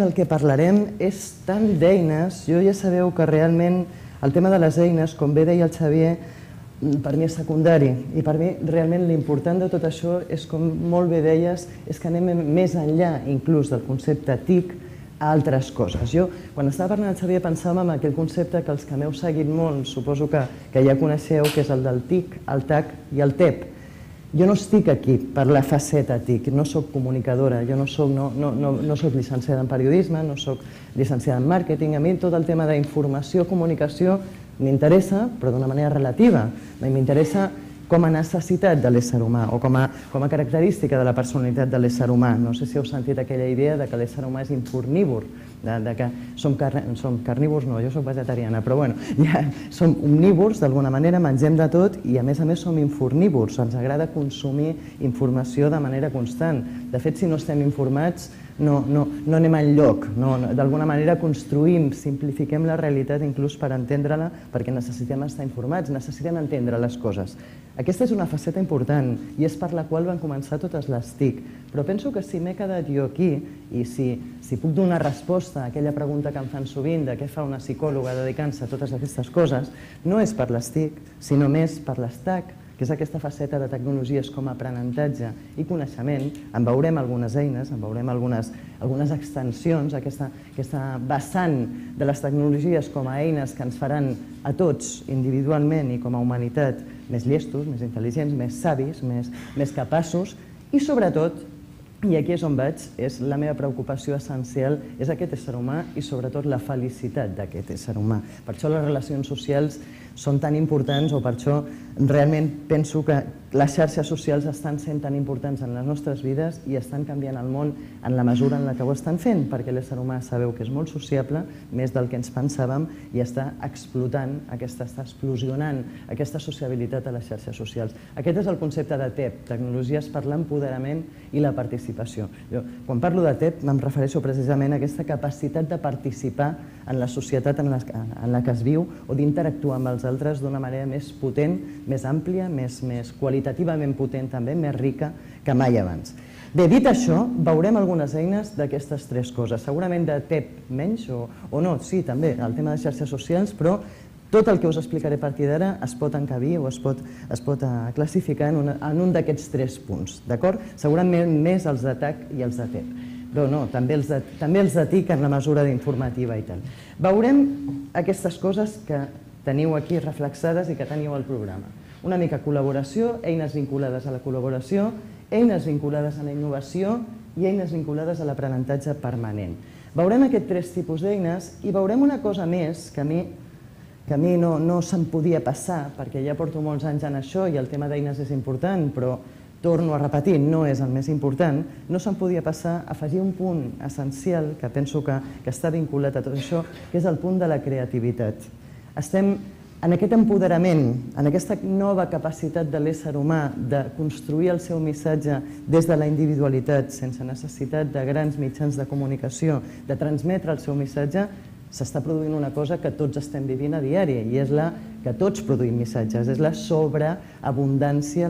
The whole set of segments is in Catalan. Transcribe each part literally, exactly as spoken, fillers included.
El que parlarem és tant d'eines, jo ja sabeu que realment el tema de les eines, com bé deia el Xavier, per mi és secundari i per mi realment l'important de tot això és, com molt bé deies, és que anem més enllà inclús del concepte T I C a altres coses. Jo, quan estava parlant el Xavier, pensava en aquell concepte que els que m'heu seguit molt, suposo que ja coneixeu, que és el del T I C, el T A C i el T E P. Jo no estic aquí per la faceta T I C, no soc comunicadora, jo no soc llicenciada en periodisme, no soc llicenciada en màrqueting, a mi tot el tema d'informació, comunicació m'interessa, però d'una manera relativa. M'interessa com a necessitat de l'ésser humà o com a característica de la personalitat de l'ésser humà. No sé si heu sentit aquella idea de que l'ésser humà és infornívor, de que som carnívors, no, jo soc vegetariana, però bueno, som omnívors d'alguna manera, mengem de tot i a més a més som infornívors, ens agrada consumir informació de manera constant. De fet, si no estem informats, no anem enlloc, d'alguna manera construïm, simplifiquem la realitat inclús per entendre-la, perquè necessitem estar informats, necessitem entendre les coses. Aquesta és una faceta important i és per la qual van començar totes les T I C, però penso que si m'he quedat jo aquí i si puc donar resposta a aquella pregunta que em fan sovint de què fa una psicòloga dedicant-se a totes aquestes coses, no és per les T I C, sinó més per les T A C, que és aquesta faceta de tecnologies com a aprenentatge i coneixement. En veurem algunes eines, en veurem algunes extensions, aquesta vessant de les tecnologies com a eines que ens faran a tots individualment i com a humanitat més llestos, més intel·ligents, més savis, més capaços i sobretot, i aquí és on vaig, és la meva preocupació essencial, és aquest ésser humà i sobretot la felicitat d'aquest ésser humà. Per això les relacions socials són tan importants o per això realment penso que les xarxes socials estan sent tan importants en les nostres vides i estan canviant el món en la mesura en la que ho estan fent, perquè l'ésser humà sabeu que és molt sociable, més del que ens pensàvem, i està explotant, està explosionant aquesta sociabilitat a les xarxes socials. Aquest és el concepte de T E P, Tecnologies per l'Empoderament i la Participació. Quan parlo de T E P me'n refereixo precisament a aquesta capacitat de participar en la societat en la que es viu o d'interactuar amb els altres d'una manera més potent, més àmplia, més qualitativament potent també, més rica que mai abans. Bé, dit això, veurem algunes eines d'aquestes tres coses. Segurament de T E P menys o no, sí, també, el tema de xarxes socials, però tot el que us explicaré a partir d'ara es pot encabir o es pot classificar en un d'aquests tres punts, d'acord? Segurament més els de T A C i els de T E P. Però no, també els de T I C en la mesura d'informativa i tal. Veurem aquestes coses que teniu aquí reflexades i que teniu al programa. Una mica col·laboració, eines vinculades a la col·laboració, eines vinculades a la innovació i eines vinculades a l'aprenentatge permanent. Veurem aquests tres tipus d'eines i veurem una cosa més que a mi que a mi no se'm podia passar, perquè ja porto molts anys en això i el tema d'eines és important, però torno a repetir, no és el més important, no se'm podia passar a afegir un punt essencial que penso que està vinculat a tot això, que és el punt de la creativitat. Estem en aquest empoderament, en aquesta nova capacitat de l'ésser humà de construir el seu missatge des de la individualitat, sense necessitat de grans mitjans de comunicació, de transmetre el seu missatge, s'està produint una cosa que tots estem vivint a diari i és la que tots produïm missatges, és la sobreabundància,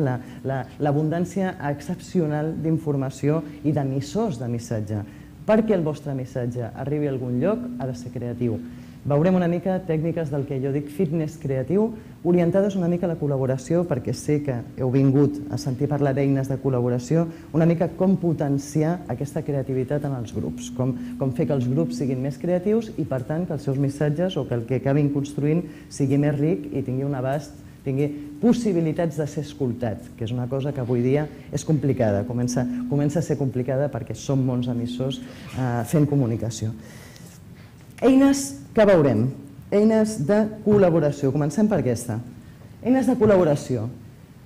l'abundància excepcional d'informació i d'emissors de missatge. Perquè el vostre missatge arribi a algun lloc ha de ser creatiu. Veurem una mica tècniques del que jo dic fitness creatiu, orientades una mica a la col·laboració, perquè sé que heu vingut a sentir parlar d'eines de col·laboració, una mica com potenciar aquesta creativitat en els grups, com fer que els grups siguin més creatius i, per tant, que els seus missatges o que el que acabin construint sigui més ric i tingui un abast, tingui possibilitats de ser escoltat, que és una cosa que avui dia és complicada, comença a ser complicada perquè som molts emissors fent comunicació. Eines que veurem, eines de col·laboració. Comencem per aquesta. Eines de col·laboració.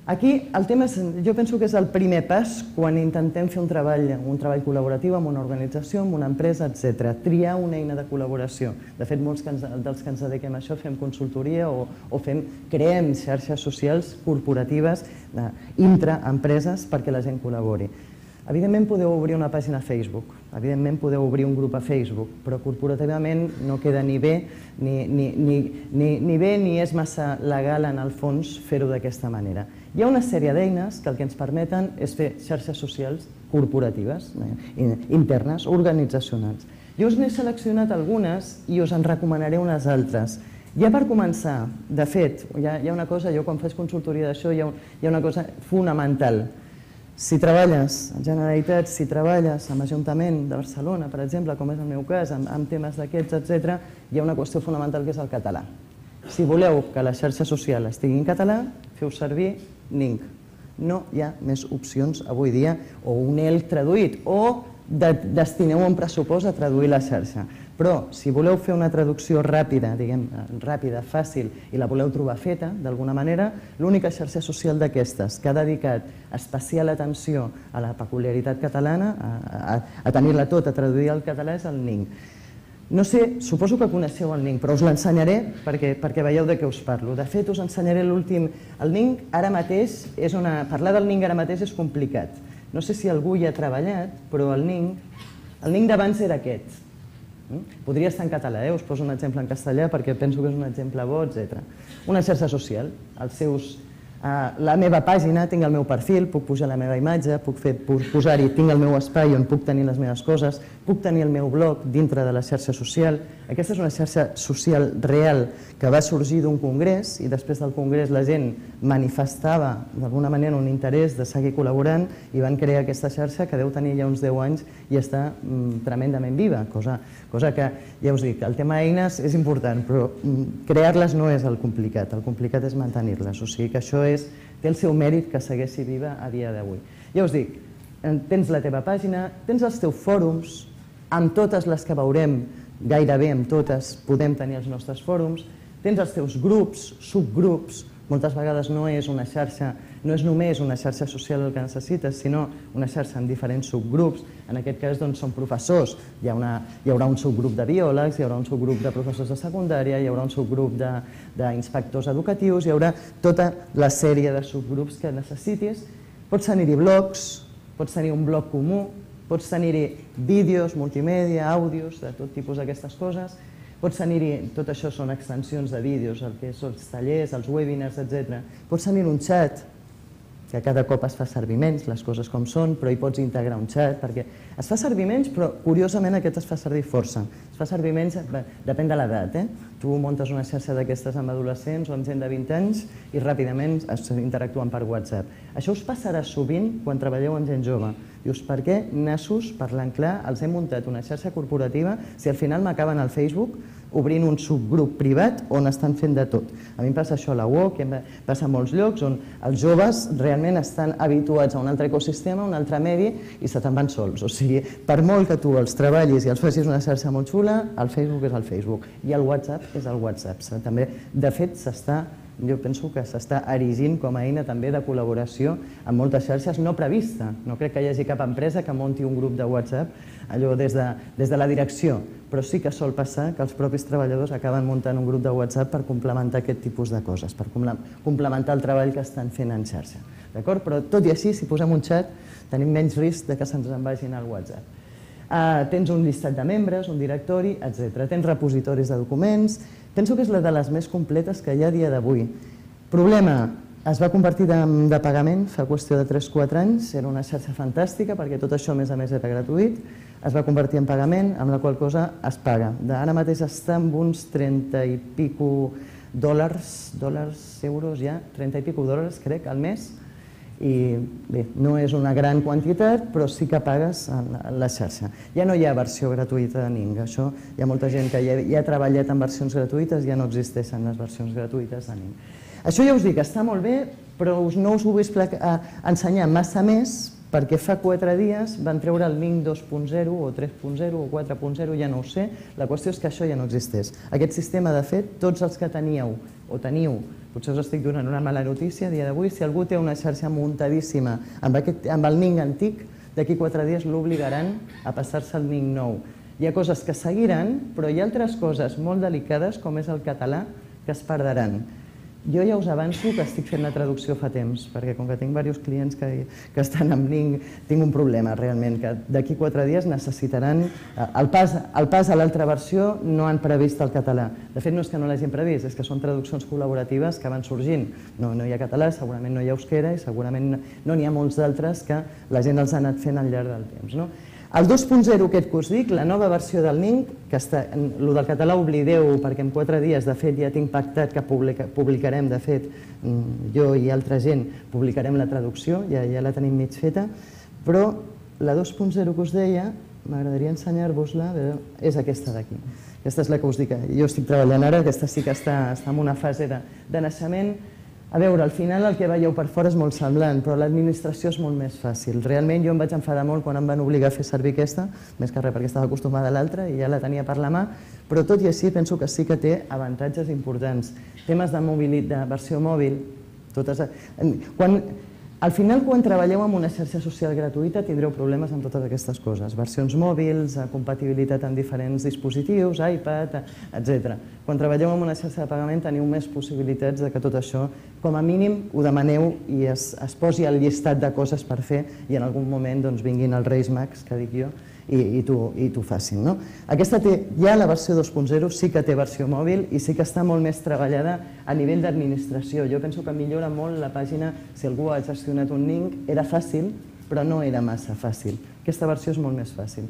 Aquí el tema, jo penso que és el primer pas quan intentem fer un treball un treball col·laboratiu amb una organització, amb una empresa, etcètera. Triar una eina de col·laboració. De fet, molts dels que ens dediquem a això fem consultoria o creem xarxes socials corporatives intraempreses perquè la gent col·labori. Evidentment podeu obrir una pàgina a Facebook, evidentment podeu obrir un grup a Facebook, però corporativament no queda ni bé ni, ni, ni, ni, ni bé ni és massa legal en el fons fer-ho d'aquesta manera. Hi ha una sèrie d'eines que el que ens permeten és fer xarxes socials corporatives, eh, internes, organitzacionals. Jo us n'he seleccionat algunes i us en recomanaré unes altres. Ja per començar, de fet, hi ha, hi ha una cosa, jo quan faig consultoria d'això hi, hi ha una cosa fonamental. Si treballes en Generalitat, si treballes amb l'Ajuntament de Barcelona, per exemple, com és el meu cas, amb, amb temes d'aquests, etcètera, hi ha una qüestió fonamental que és el català. Si voleu que la xarxa social estigui en català, feu servir Ning. No hi ha més opcions avui dia, o un E L traduït, o de, destineu un pressupost a traduir la xarxa. Però si voleu fer una traducció ràpida, diguem, ràpida, fàcil, i la voleu trobar feta, d'alguna manera, l'única xarxa social d'aquestes que ha dedicat especial atenció a la peculiaritat catalana, a, a, a tenir-la tot, a traduir al català, és el Ning. No sé, suposo que coneixeu el Ning, però us l'ensenyaré perquè, perquè veieu de què us parlo. De fet, us ensenyaré l'últim. El Ning ara mateix és una... Parlar del Ning ara mateix és complicat. No sé si algú hi ha treballat, però el Ning... El Ning d'abans era aquest. Podria estar en català, eh? Us poso un exemple en castellà perquè penso que és un exemple bo, etcètera. Una xarxa social, els seus... La meva pàgina, tinc el meu perfil, puc pujar la meva imatge, puc posar-hi, tinc el meu espai on puc tenir les meves coses, puc tenir el meu blog dintre de la xarxa social. Aquesta és una xarxa social real que va sorgir d'un congrés i després del congrés la gent manifestava d'alguna manera un interès de seguir col·laborant i van crear aquesta xarxa que deu tenir ja uns deu anys i està mm, tremendament viva, cosa, cosa que, ja us dic, el tema eines és important, però mm, crear-les no és el complicat, el complicat és mantenir-les, o sigui que això és, té el seu mèrit que segueixi viva a dia d'avui. Ja us dic, tens la teva pàgina, tens els teus fòrums, amb totes les que veurem, gairebé amb totes podem tenir els nostres fòrums, tens els teus grups, subgrups, moltes vegades no és una xarxa, no és només una xarxa social el que necessites, sinó una xarxa amb diferents subgrups. En aquest cas doncs, són professors, hi, ha una, hi haurà un subgrup de biòlegs, hi haurà un subgrup de professors de secundària, hi haurà un subgrup d'inspectors educatius, hi haurà tota la sèrie de subgrups que necessitis. Pots tenir-hi blogs, pots tenir un blog comú, pots tenir-hi vídeos, multimèdia, àudios, de tot tipus d'aquestes coses. Pots tenir-hi, tot això són extensions de vídeos, el que són els tallers, els webinars, etcètera. Pots tenir un xat, que cada cop es fa servir menys, les coses com són, però hi pots integrar un xat, perquè es fa servir menys, però curiosament aquest es fa servir força. Es fa servir menys, depèn de l'edat, eh? Tu muntes una xarxa d'aquestes amb adolescents o amb gent de vint anys i ràpidament es interactuen per WhatsApp. Això us passarà sovint quan treballeu amb gent jove. Dius, per què nassos, parlant clar, els he muntat una xarxa corporativa si al final m'acaben al Facebook obrint un subgrup privat on estan fent de tot. A mi em passa això a la U O C, passa a molts llocs on els joves realment estan habituats a un altre ecosistema, a un altre medi i se te'n van sols. O sigui, per molt que tu els treballis i els facis una xarxa molt xula, el Facebook és el Facebook i el WhatsApp és el WhatsApp. També, de fet, s'està jo penso que s'està erigint com a eina també de col·laboració amb moltes xarxes no prevista. No crec que hi hagi cap empresa que munti un grup de WhatsApp allò des de, des de la direcció, però sí que sol passar que els propis treballadors acaben muntant un grup de WhatsApp per complementar aquest tipus de coses, per complementar el treball que estan fent en xarxa. D'acord? Però tot i així, si posem un xat, tenim menys risc de que se'ns en vagin al WhatsApp. Uh, tens un llistat de membres, un directori, etcètera. Tens repositoris de documents. Penso que és la de les més completes que hi ha a dia d'avui. Problema, es va convertir de, de pagament fa qüestió de tres quatre anys, era una xarxa fantàstica perquè tot això a més a més era gratuït, es va convertir en pagament, amb la qual cosa es paga. Ara mateix està amb uns trenta i pico dòlars, dòlars, euros ja, trenta i pico dòlars crec al mes, i bé, no és una gran quantitat, però sí que pagues la xarxa. Ja no hi ha versió gratuïta de Ning, això hi ha molta gent que ja, ja ha treballat en versions gratuïtes, ja no existeixen les versions gratuïtes de Ning. Això ja us dic, està molt bé, però no us ho vull ensenyar massa més, perquè fa quatre dies van treure el Ning dos punt zero o tres punt zero o quatre punt zero, ja no ho sé, la qüestió és que això ja no existeix. Aquest sistema, de fet, tots els que teníeu o teniu, potser us estic donant una mala notícia a dia d'avui, si algú té una xarxa muntadíssima amb, aquest, amb el Ning antic, d'aquí quatre dies l'obligaran a passar-se al Ning nou. Hi ha coses que seguiran, però hi ha altres coses molt delicades, com és el català, que es perdran. Jo ja us avanço que estic fent la traducció fa temps, perquè com que tinc diversos clients que, que estan amb Ning, tinc un problema realment, que d'aquí quatre dies necessitaran... El pas, el pas a l'altra versió no han previst el català. De fet, no és que no l'hagin previst, és que són traduccions col·laboratives que van sorgint. No, no hi ha català, segurament no hi ha euskera i segurament no n'hi ha molts d'altres que la gent els ha anat fent al llarg del temps. No? El dos punt zero aquest que us dic, la nova versió del Ning, que està, el del català oblideu perquè en quatre dies, de fet, ja tinc pactat que publica, publicarem, de fet, jo i altra gent publicarem la traducció, ja, ja la tenim mig feta, però la dos punt zero que us deia, m'agradaria ensenyar-vos-la, és aquesta d'aquí. Aquesta és la que us dic, jo estic treballant ara, aquesta sí que està, està en una fase de, de naixement. A veure, al final el que veieu per fora és molt semblant, però l'administració és molt més fàcil. Realment jo em vaig enfadar molt quan em van obligar a fer servir aquesta, més que res perquè estava acostumada a l'altra i ja la tenia per la mà, però tot i així penso que sí que té avantatges importants. Temes de, mobilitat, de versió mòbil, totes... Quan, al final, quan treballeu amb una xarxa social gratuïta, tindreu problemes amb totes aquestes coses. Versions mòbils, compatibilitat amb diferents dispositius, iPad, etcètera. Quan treballeu amb una xarxa de pagament teniu més possibilitats de que tot això, com a mínim, ho demaneu i es, es posi al llistat de coses per fer i en algun moment doncs, vinguin els Reis Mags, que dic jo, i, i t'ho facin. No? Aquesta té, ja la versió dos punt zero sí que té versió mòbil i sí que està molt més treballada a nivell d'administració. Jo penso que millora molt la pàgina, si algú ha gestionat un Ning, era fàcil, però no era massa fàcil. Aquesta versió és molt més fàcil.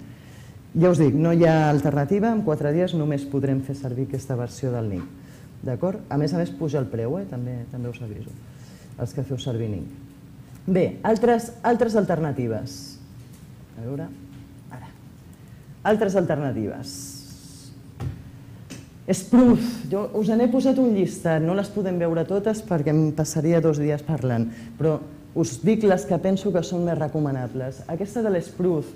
Ja us dic, no hi ha alternativa, en quatre dies només podrem fer servir aquesta versió del Ning. D'acord? A més a més puja el preu, eh? també, també us aviso, els que feu servir Ning. Bé, altres, altres alternatives. A veure... Altres alternatives. Spruce, jo us n'he posat un llistat, no les podem veure totes perquè em passaria dos dies parlant, però us dic les que penso que són més recomanables. Aquesta de l'Spruce,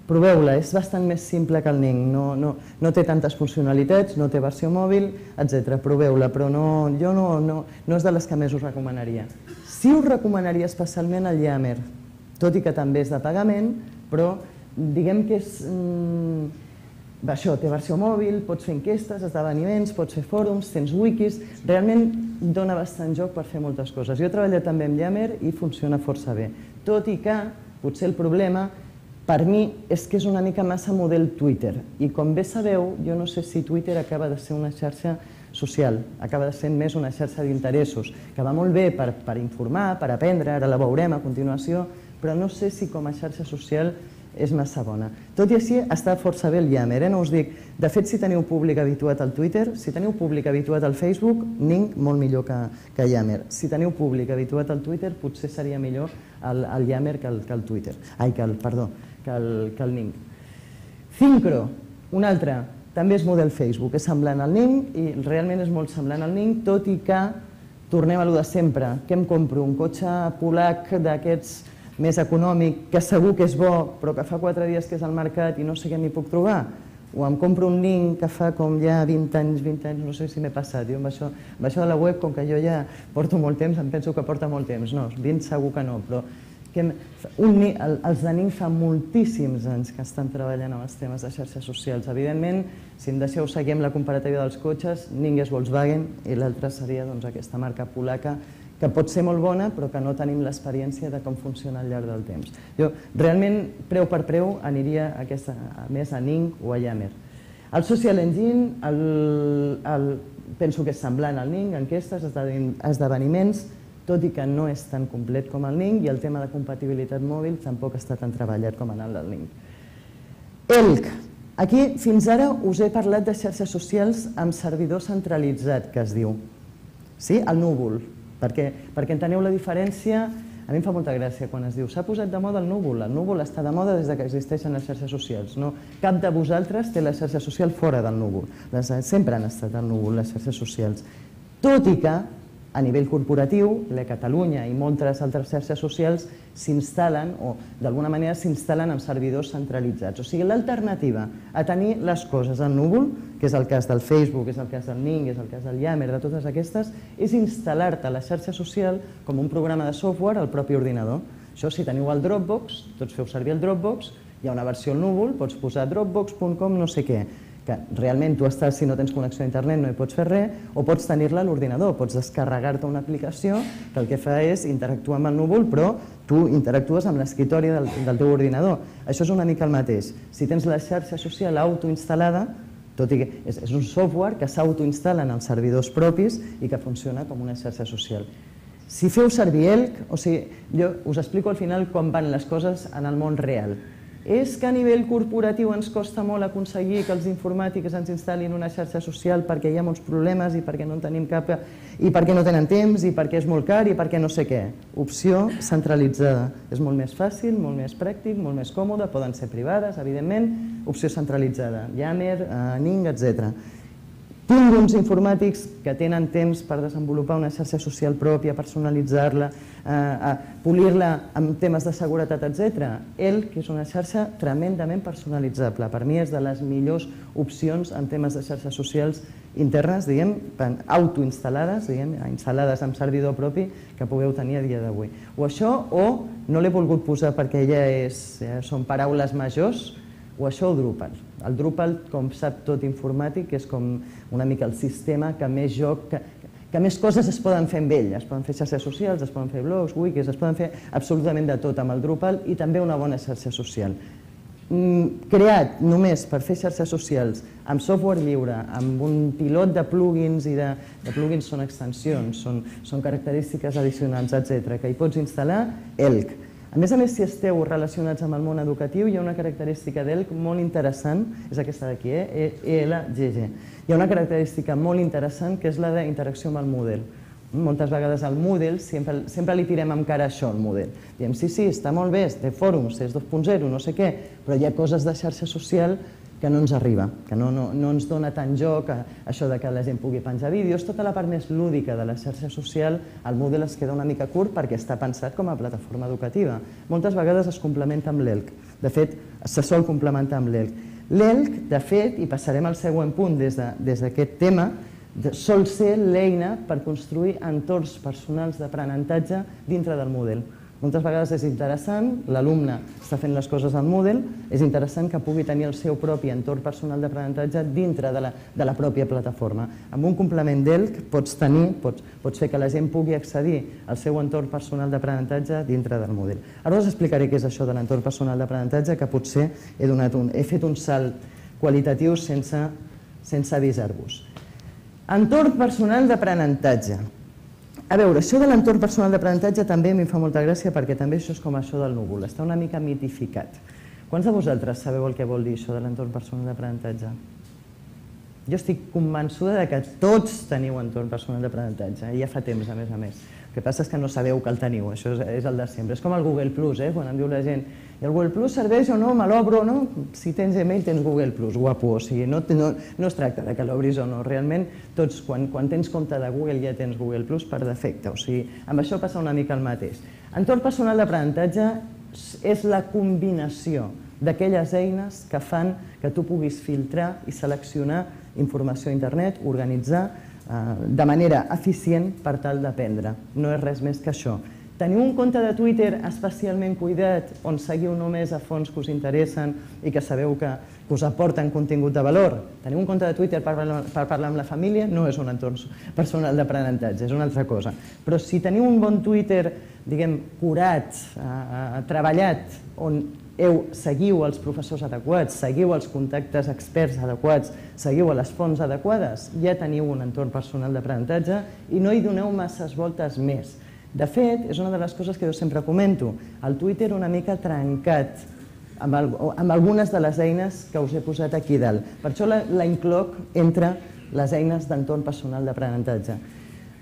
proveu-la, és bastant més simple que el Ning, no, no, no té tantes funcionalitats, no té versió mòbil, etcètera. Proveu-la, però no, jo no, no, no és de les que més us recomanaria. Sí us recomanaria especialment el Yammer, tot i que també és de pagament, però diguem que és... Això, té versió mòbil, pots fer enquestes, esdeveniments, pots fer fòrums, tens wikis... Realment dona bastant joc per fer moltes coses. Jo he treballat també amb Yammer i funciona força bé. Tot i que, potser el problema, per mi, és que és una mica massa model Twitter. I com bé sabeu, jo no sé si Twitter acaba de ser una xarxa social, acaba de ser més una xarxa d'interessos, que va molt bé per, per informar, per aprendre, ara la veurem a continuació, però no sé si com a xarxa social és massa bona. Tot i així està força bé el Yammer, eh? No us dic, de fet si teniu públic habituat al Twitter, si teniu públic habituat al Facebook, Ning molt millor que, que Yammer. Si teniu públic habituat al Twitter, potser seria millor el, el Yammer que el, que el Twitter. Ai, que el, perdó, que el, que el Ning. Syncro, un altre, també és model Facebook, és semblant al Ning i realment és molt semblant al Ning, tot i que tornem a lo de sempre. Què em compro? Un cotxe polac d'aquests més econòmic, que segur que és bo, però que fa quatre dies que és al mercat i no sé què m'hi puc trobar. O em compro un Ning que fa com ja vint anys, vint anys, no sé si m'he passat. Jo amb això, amb això de la web, com que jo ja porto molt temps, em penso que porta molt temps. No, vint segur que no, però que un, els de Ning fa moltíssims anys que estan treballant amb els temes de xarxes socials. Evidentment, si em deixeu seguir amb la comparativa dels cotxes, Ning és Volkswagen i l'altra seria doncs, aquesta marca polaca que pot ser molt bona, però que no tenim l'experiència de com funciona al llarg del temps. Jo, realment, preu per preu, aniria a aquesta, a més a Ning o a Yammer. El Social Engine, el, el, penso que és semblant al Ning, enquestes, esdeveniments, tot i que no és tan complet com el Ning, i el tema de compatibilitat mòbil tampoc està tan treballat com en el del Ning. Elk. Aquí, fins ara, us he parlat de xarxes socials amb servidor centralitzat, que es diu. Sí? El núvol. Perquè, perquè enteneu la diferència, a mi em fa molta gràcia quan es diu s'ha posat de moda el núvol, el núvol està de moda des que existeixen les xarxes socials. No, cap de vosaltres té la xarxa social fora del núvol, les, sempre han estat al núvol les xarxes socials. Tot i que a nivell corporatiu, la Catalunya i moltes altres xarxes socials s'instal·len o d'alguna manera s'instal·len amb servidors centralitzats. O sigui, l'alternativa a tenir les coses al núvol, que és el cas del Facebook, és el cas del Ning, és el cas del Yammer, de totes aquestes, és instal·lar-te a la xarxa social com un programa de software al propi ordinador. Això, si teniu el Dropbox, tots feu servir el Dropbox, hi ha una versió al núvol, pots posar dropbox punt com no sé què. que realment tu estàs, si no tens connexió a internet no hi pots fer res, o pots tenir-la a l'ordinador, pots descarregar-te una aplicació que el que fa és interactuar amb el núvol, però tu interactues amb l'escriptori del, del teu ordinador. Això és una mica el mateix. Si tens la xarxa social autoinstal·lada, tot i que és, és un software que s'autoinstal·la en els servidors propis i que funciona com una xarxa social. Si feu servir Elk, o sigui, jo us explico al final com van les coses en el món real. És que a nivell corporatiu ens costa molt aconseguir que els informàtics ens instal·lin una xarxa social perquè hi ha molts problemes i perquè no en tenim cap, i perquè no tenen temps i perquè és molt car i perquè no sé què. Opció centralitzada. És molt més fàcil, molt més pràctic, molt més còmode, poden ser privades, evidentment. Opció centralitzada. Yammer, Ning, etcètera. Tinc uns informàtics que tenen temps per desenvolupar una xarxa social pròpia, personalitzar-la, polir-la amb temes de seguretat, etcètera. Elk és una xarxa tremendament personalitzable. Per mi és de les millors opcions en temes de xarxes socials internes, diguem, autoinstal·lades, diguem, instal·lades amb servidor propi que pugueu tenir a dia d'avui. O això, o no l'he volgut posar perquè ja són paraules majors, o això o Drupal. El Drupal, com sap tot informàtic, és com una mica el sistema que més joc, que, que més coses es poden fer amb ell. Es poden fer xarxes socials, es poden fer blogs, wikis, es poden fer absolutament de tot amb el Drupal i també una bona xarxa social. Creat només per fer xarxes socials amb software lliure, amb un pilot de plugins, i de, de plugins són extensions, són, són característiques addicionals, etcètera, que hi pots instal·lar, Elk. A més a més, si esteu relacionats amb el món educatiu, hi ha una característica d'Elk molt interessant, és aquesta d'aquí, E L G G. Hi ha una característica molt interessant que és la d'interacció amb el Moodle. Moltes vegades al Moodle sempre, sempre li tirem amb cara a això, al Moodle. Diem, sí, sí, està molt bé, té fòrums, és dos punt zero, no sé què, però hi ha coses de xarxa social que no ens arriba, que no, no, no ens dona tant joc, a, això de que la gent pugui penjar vídeos, tota la part més lúdica de la xarxa social, el Moodle es queda una mica curt perquè està pensat com a plataforma educativa. Moltes vegades es complementa amb l'Elk, de fet, se sol complementar amb l'Elk. L'Elk, de fet, i passarem al següent punt des d'aquest tema, sol ser l'eina per construir entorns personals d'aprenentatge dintre del Moodle. Moltes vegades és interessant, l'alumne està fent les coses al Moodle, és interessant que pugui tenir el seu propi entorn personal d'aprenentatge dintre de la, de la pròpia plataforma. Amb un complement d'Elk pots tenir, pots, pots fer que la gent pugui accedir al seu entorn personal d'aprenentatge dintre del Moodle. Ara us explicaré què és això de l'entorn personal d'aprenentatge, que potser he, donat un, he fet un salt qualitatiu sense, sense avisar-vos. Entorn personal d'aprenentatge. A veure, això de l'entorn personal d'aprenentatge també a mi em fa molta gràcia perquè també això és com això del núvol, està una mica mitificat. Quants de vosaltres sabeu el que vol dir això de l'entorn personal d'aprenentatge? Jo estic convençuda que tots teniu entorn personal d'aprenentatge, i ja fa temps, a més a més. El que passa és que no sabeu que el teniu, això és el de sempre. És com el Google Plus, eh? Quan em diu la gent, i el Google Plus serveix o no, me l'obro o no? Si tens Gmail tens Google Plus, guapo, o sigui, no, no, no es tracta de que l'obris o no, realment tots, quan, quan tens compte de Google ja tens Google Plus per defecte, o sigui, amb això passa una mica el mateix. Entorn personal d'aprenentatge és la combinació d'aquelles eines que fan que tu puguis filtrar i seleccionar informació a internet, organitzar de manera eficient per tal d'aprendre. No és res més que això. Teniu un compte de Twitter especialment cuidat on seguiu només a fons que us interessen i que sabeu que us aporten contingut de valor? Teniu un compte de Twitter per parlar amb la família? No és un entorn personal d'aprenentatge, és una altra cosa. Però si teniu un bon Twitter, diguem, curat, treballat, on heu, seguiu els professors adequats, seguiu els contactes experts adequats, seguiu a les fonts adequades, ja teniu un entorn personal d'aprenentatge i no hi doneu masses voltes més. De fet, és una de les coses que jo sempre comento, el Twitter una mica trencat amb, el, amb algunes de les eines que us he posat aquí dalt. Per això la, la incloc entre les eines d'entorn personal d'aprenentatge.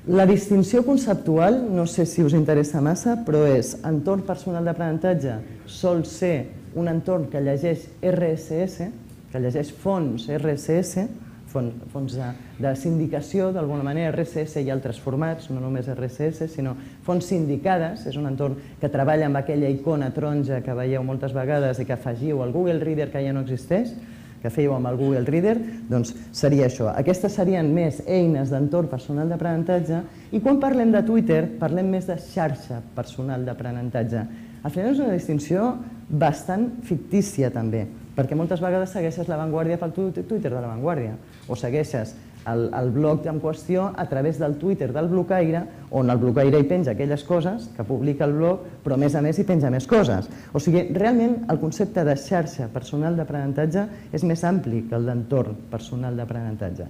La distinció conceptual, no sé si us interessa massa, però és entorn personal d'aprenentatge sol ser un entorn que llegeix R S S, que llegeix fonts R S S, fonts de, de sindicació, d'alguna manera, R S S i altres formats, no només R S S, sinó fonts sindicades, és un entorn que treballa amb aquella icona taronja que veieu moltes vegades i que afegiu al Google Reader que ja no existeix, que fèieu amb el Google Reader, doncs seria això. Aquestes serien més eines d'entorn personal d'aprenentatge i quan parlem de Twitter parlem més de xarxa personal d'aprenentatge. Al final és una distinció bastant fictícia també. perquè moltes vegades segueixes La Vanguardia pel Twitter de La Vanguardia o segueixes el blog en qüestió a través del Twitter del blocaire, on el blocaire hi penja aquelles coses que publica el blog, però a més a més hi penja més coses. O sigui, realment el concepte de xarxa personal d'aprenentatge és més ampli que el d'entorn personal d'aprenentatge.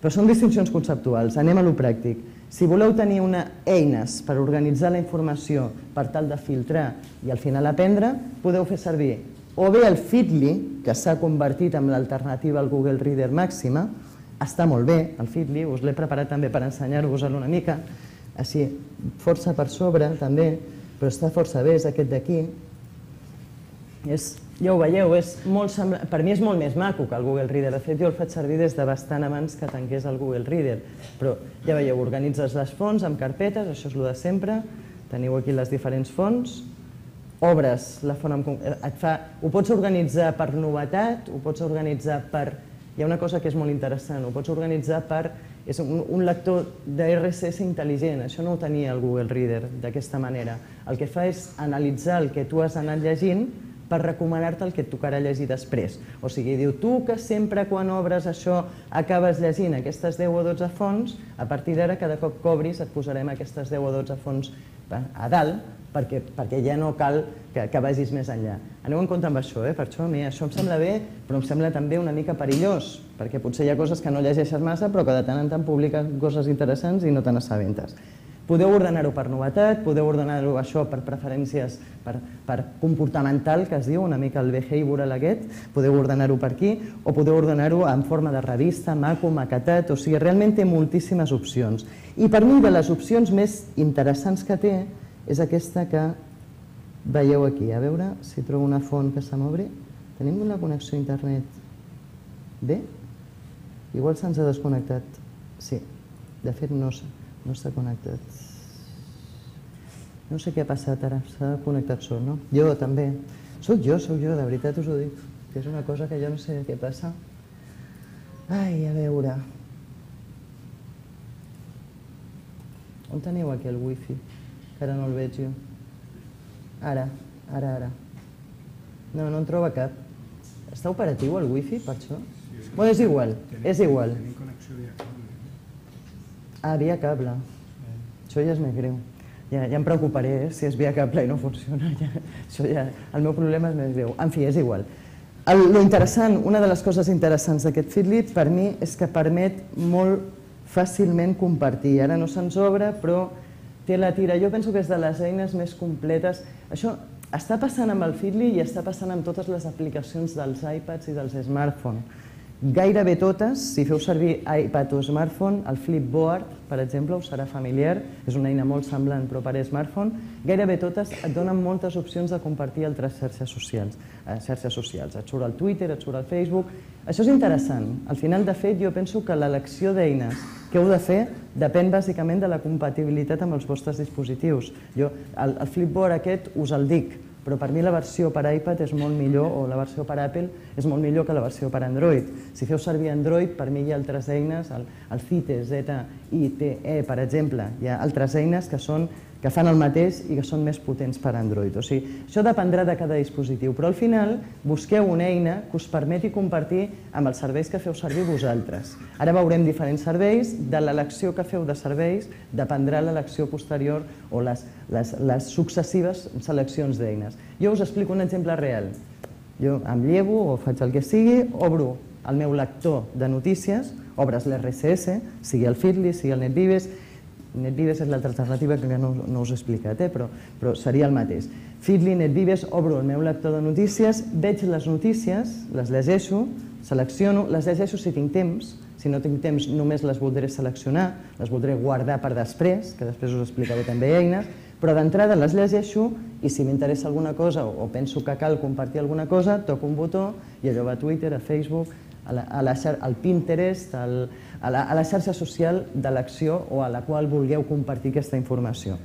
Però són distincions conceptuals, anem a lo pràctic. Si voleu tenir eines per organitzar la informació per tal de filtrar i al final aprendre, podeu fer servir o bé el Feedly, que s'ha convertit en l'alternativa al Google Reader màxima. Està molt bé, el Feedly, us l'he preparat també per ensenyar-vos-el una mica, així, força per sobre també, però està força bé, és aquest d'aquí. Ja ho veieu, per mi és molt més maco que el Google Reader. De fet, jo el faig servir des de bastant abans que tanqués el Google Reader. Però ja veieu, organitzes les fonts amb carpetes, això és el de sempre, teniu aquí les diferents fonts, obres la font, ho pots organitzar per novetat, ho pots organitzar per... Hi ha una cosa que és molt interessant, ho pots organitzar per... És un lector de erre esse esse intel·ligent, això no ho tenia el Google Reader d'aquesta manera. El que fa és analitzar el que tu has anat llegint per recomanar-te el que et tocarà llegir després. O sigui, diu, tu que sempre quan obres això acabes llegint aquestes deu o dotze fonts, a partir d'ara cada cop que obris et posarem aquestes deu o dotze fonts a dalt, perquè ja no cal que vagis més enllà. Aneu en compte amb això, per això a mi això em sembla bé, però em sembla també una mica perillós, perquè potser hi ha coses que no llegeixes massa, però que de tant en tant publiquen coses interessants i no te n'assabentes. Podeu ordenar-ho per novetat, podeu ordenar-ho això per preferències, per comportamental, que es diu, una mica el behavioral aquest, podeu ordenar-ho per aquí, o podeu ordenar-ho en forma de revista, maco, maquetat, o sigui, realment té moltíssimes opcions. I per mi, de les opcions més interessants que té, és aquesta que veieu aquí. A veure si trobo una font que se m'obri. Tenim una connexió a internet bé? Igual se'ns ha desconnectat. Sí, de fet no s'ha connectat. No sé què ha passat ara, s'ha connectat sol, no? Jo també. Soc jo, soc jo, de veritat us ho dic, que és una cosa que jo no sé què passa. Ai, a veure... On teniu aquí el wifi? Que ara no el veig jo. Ara, ara, ara. No, no en troba cap. Està operatiu el wifi, per això? Bé, és igual, és igual. Tenim connexió via cable. Ah, via cable. Això ja és més greu. Ja em preocuparé si és via cable i no funciona. El meu problema és més greu. En fi, és igual. Lo interessant, una de les coses interessants d'aquest Feedly, per mi, és que permet molt fàcilment compartir. Ara no se'ns obre, però té la tira. Jo penso que és de les eines més completes. Això està passant amb el Feedly i està passant amb totes les aplicacions dels iPads i dels smartphones. Gairebé totes, si feu servir iPad o smartphone, el Flipboard, per exemple, us serà familiar, és una eina molt semblant però per smartphone, gairebé totes et donen moltes opcions de compartir altres xarxes socials. xarxes socials. Et surt el Twitter, et surt el Facebook... Això és interessant. Al final, de fet, jo penso que l'elecció d'eines que heu de fer depèn bàsicament de la compatibilitat amb els vostres dispositius. Jo, el Flipboard aquest us el dic, però per mi la versió per iPad és molt millor, o la versió per Apple és molt millor que la versió per Android. Si feu servir Android, per mi hi ha altres eines, el Zite, Z I T E, per exemple, hi ha altres eines que són que fan el mateix i que són més potents per Android. O sigui, això dependrà de cada dispositiu, però al final busqueu una eina que us permeti compartir amb els serveis que feu servir vosaltres. Ara veurem diferents serveis, de l'elecció que feu de serveis dependrà l'elecció posterior o les successives seleccions d'eines. Jo us explico un exemple real. Jo em llevo o faig el que sigui, obro el meu lector de notícies, obres l'erre esse esse, sigui el Feedly, sigui el NetVives. NetVives és l'altra alternativa que no us he explicat, però seria el mateix. Feedly, NetVives, obro el meu lector de notícies, veig les notícies, les llegeixo, selecciono, les llegeixo si tinc temps, si no tinc temps només les voldré seleccionar, les voldré guardar per després, que després us explicaré també eines, però d'entrada les llegeixo i si m'interessa alguna cosa o penso que cal compartir alguna cosa, toco un botó i allò va a Twitter, a Facebook, al Pinterest, a la xarxa social d'elecció o a la qual vulgueu compartir aquesta informació.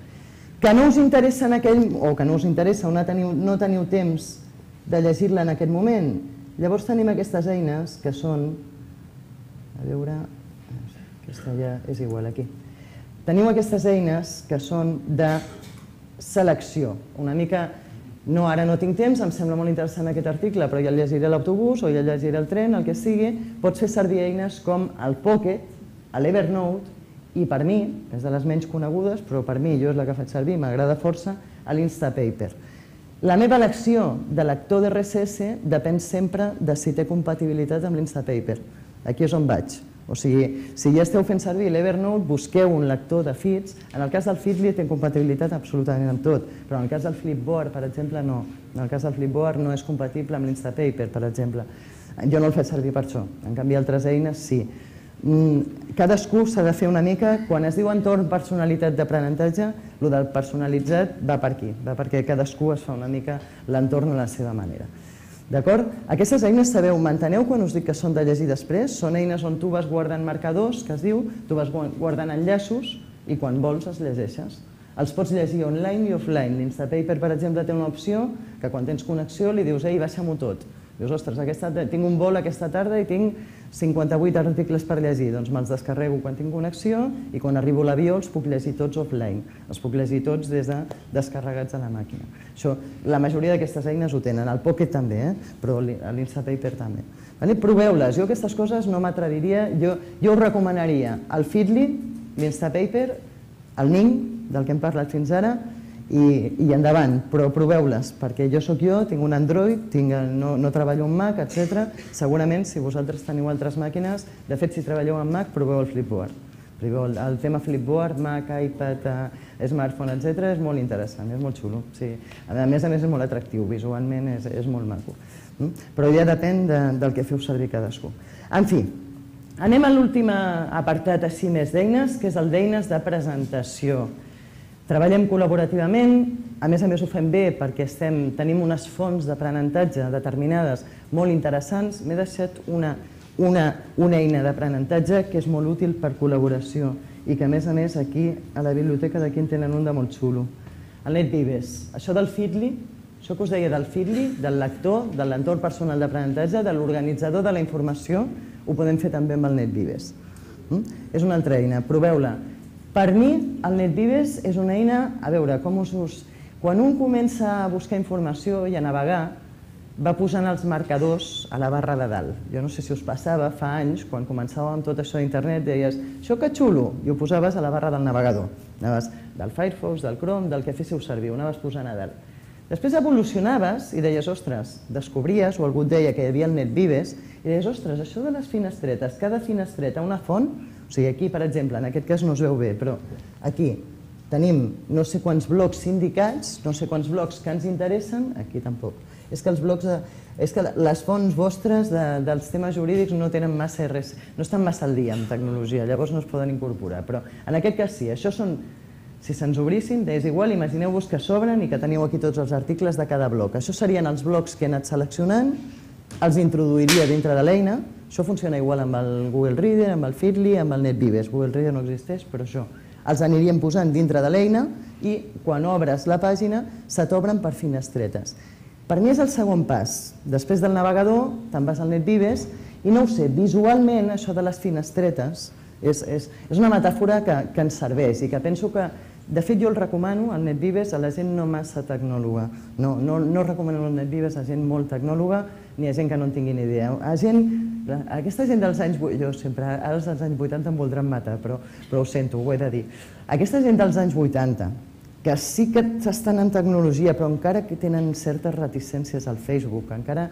Que no us interessa en aquell, o que no us interessa o no teniu temps de llegir-la en aquest moment, llavors tenim aquestes eines que són, a veure, aquesta ja és igual aquí, teniu aquestes eines que són de selecció, una mica no, ara no tinc temps, em sembla molt interessant aquest article, però ja el llegiré a l'autobús o ja el llegiré al tren, el que sigui, pots fer servir eines com el Pocket, l'Evernote i per mi, és de les menys conegudes, però per mi, jo és la que faig servir, m'agrada força, l'Instapaper. La meva elecció de lector d'R S S depèn sempre de si té compatibilitat amb l'Instapaper. Aquí és on vaig. O sigui, si ja esteu fent servir l'Evernote, busqueu un lector de feeds. En el cas del Feedly té compatibilitat absolutament amb tot, però en el cas del Flipboard, per exemple, no. En el cas del Flipboard no és compatible amb l'Instapaper, per exemple. Jo no el faig servir per això, en canvi altres eines sí. Cadascú s'ha de fer una mica, quan es diu entorn personalitat d'aprenentatge, el del personalitzat va per aquí, va perquè cadascú es fa una mica l'entorn a la seva manera. D'acord? Aquestes eines, sabeu, m'enteneu quan us dic que són de llegir després? Són eines on tu vas guardant marcadors, que es diu, tu vas guardant enllaços i quan vols els llegeixes. Els pots llegir online i offline. L'Instapaper, per exemple, té una opció que quan tens connexió li dius, ei, baixa-m'ho tot. Dius, ostres, tinc un vol aquesta tarda i tinc cinquanta-vuit articles per llegir, doncs me'ls descarrego quan tinc connexió i quan arribo a l'avió els puc llegir tots offline, els puc llegir tots des de descarregats a la màquina. Això, la majoria d'aquestes eines ho tenen, el Pocket també, però l'Instapaper també. Proveu-les, jo aquestes coses no m'atreviria, jo us recomanaria el Feedly, l'Instapaper, el Ning, del que hem parlat fins ara, i endavant, però proveu-les, perquè jo sóc jo, tinc un Android, no treballo amb Mac, etcètera. Segurament, si vosaltres teniu altres màquines, de fet, si treballeu amb Mac, proveu el Flipboard. El tema Flipboard, Mac, iPad, smartphone, etcètera, és molt interessant, és molt xulo. A més a més, és molt atractiu, visualment és molt maco. Però ja depèn del que feu servir cadascú. En fi, anem a l'últim apartat així més d'eines, que és el d'eines de presentació. Treballem col·laborativament, a més a més ho fem bé perquè tenim unes fonts d'aprenentatge determinades molt interessants. M'he deixat una eina d'aprenentatge que és molt útil per col·laboració i que a més a més aquí a la biblioteca d'aquí en tenen un de molt xulo. El NetVives, això del Feedly, això que us deia del Feedly, del lector, de l'entorn personal d'aprenentatge, de l'organitzador de la informació, ho podem fer també amb el NetVives. És una altra eina, proveu-la. Per mi, el NetVives és una eina, a veure, com us... Quan un comença a buscar informació i a navegar, va posant els marcadors a la barra de dalt. Jo no sé si us passava, fa anys, quan començàvem amb tot això d'internet, deies, això que xulo, i ho posaves a la barra del navegador. Anaves del Firefox, del Chrome, del que féssiu servir, ho anaves posant a dalt. Després evolucionaves i deies, ostres, descobries, o algú et deia que hi havia el NetVives, i deies, ostres, això de les finestretes, cada finestreta una font. O sigui, aquí, per exemple, en aquest cas no es veu bé, però aquí tenim no sé quants blocs sindicats, no sé quants blocs que ens interessen, aquí tampoc. És que els blocs, és que les fonts vostres dels temes jurídics no tenen massa res, no estan massa al dia amb tecnologia, llavors no es poden incorporar, però en aquest cas sí, això són, si se'ns obrissin, és igual, imagineu-vos que s'obren i que teniu aquí tots els articles de cada bloc. Això serien els blocs que he anat seleccionant, els introduiria dintre de l'eina. Això funciona igual amb el Google Reader, amb el Feedly, amb el NetVives. Google Reader no existeix, però això. Els aniríem posant dintre de l'eina i quan obres la pàgina se t'obren per finestretes. Per mi és el segon pas. Després del navegador te'n vas al NetVives i no ho sé, visualment això de les finestretes és una metàfora que ens serveix i que penso que, de fet jo el recomano, el NetVives, a la gent no massa tecnòloga. No recomano el NetVives a gent molt tecnòloga ni a gent que no en tingui ni idea. Aquesta gent dels anys... Jo sempre, ara els dels anys vuitanta em voldran matar, però ho sento, ho he de dir. Aquesta gent dels anys vuitanta, que sí que estan en tecnologia, però encara que tenen certes reticències al Facebook, que encara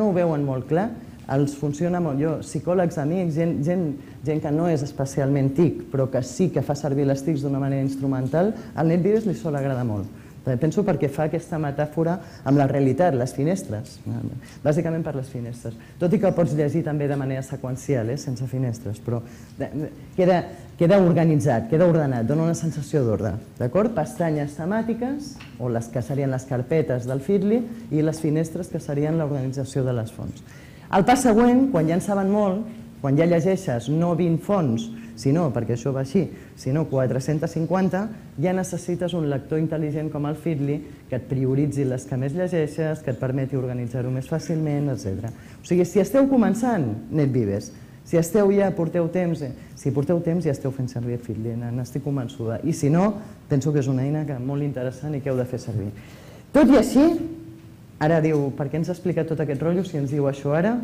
no ho veuen molt clar, els funciona molt. Jo, psicòlegs, amics, gent que no és especialment T I C, però que sí que fa servir les T I Cs d'una manera instrumental, al NetVives li sol agradar molt. Penso perquè fa aquesta metàfora amb la realitat, les finestres, bàsicament per les finestres. Tot i que pots llegir també de manera seqüencial, sense finestres, però queda organitzat, queda ordenat, dona una sensació d'ordre. Pestanyes temàtiques, o les que serien les carpetes del Feedly, i les finestres que serien l'organització de les fonts. El pas següent, quan ja en saben molt, quan ja llegeixes no vint fonts, sinó, perquè això va així, sinó quatre-centes cinquanta, ja necessites un lector intel·ligent com el Feedly que et prioritzi les que més llegeixes, que et permeti organitzar-ho més fàcilment, etcètera. O sigui, si esteu començant, NetVives, si esteu ja, porteu temps, si porteu temps ja esteu fent servir el Feedly, n'estic convençuda. I si no, penso que és una eina molt interessant i que heu de fer servir. Tot i així, Ara diu, per què ens ha explicat tot aquest rotllo si ens diu això ara?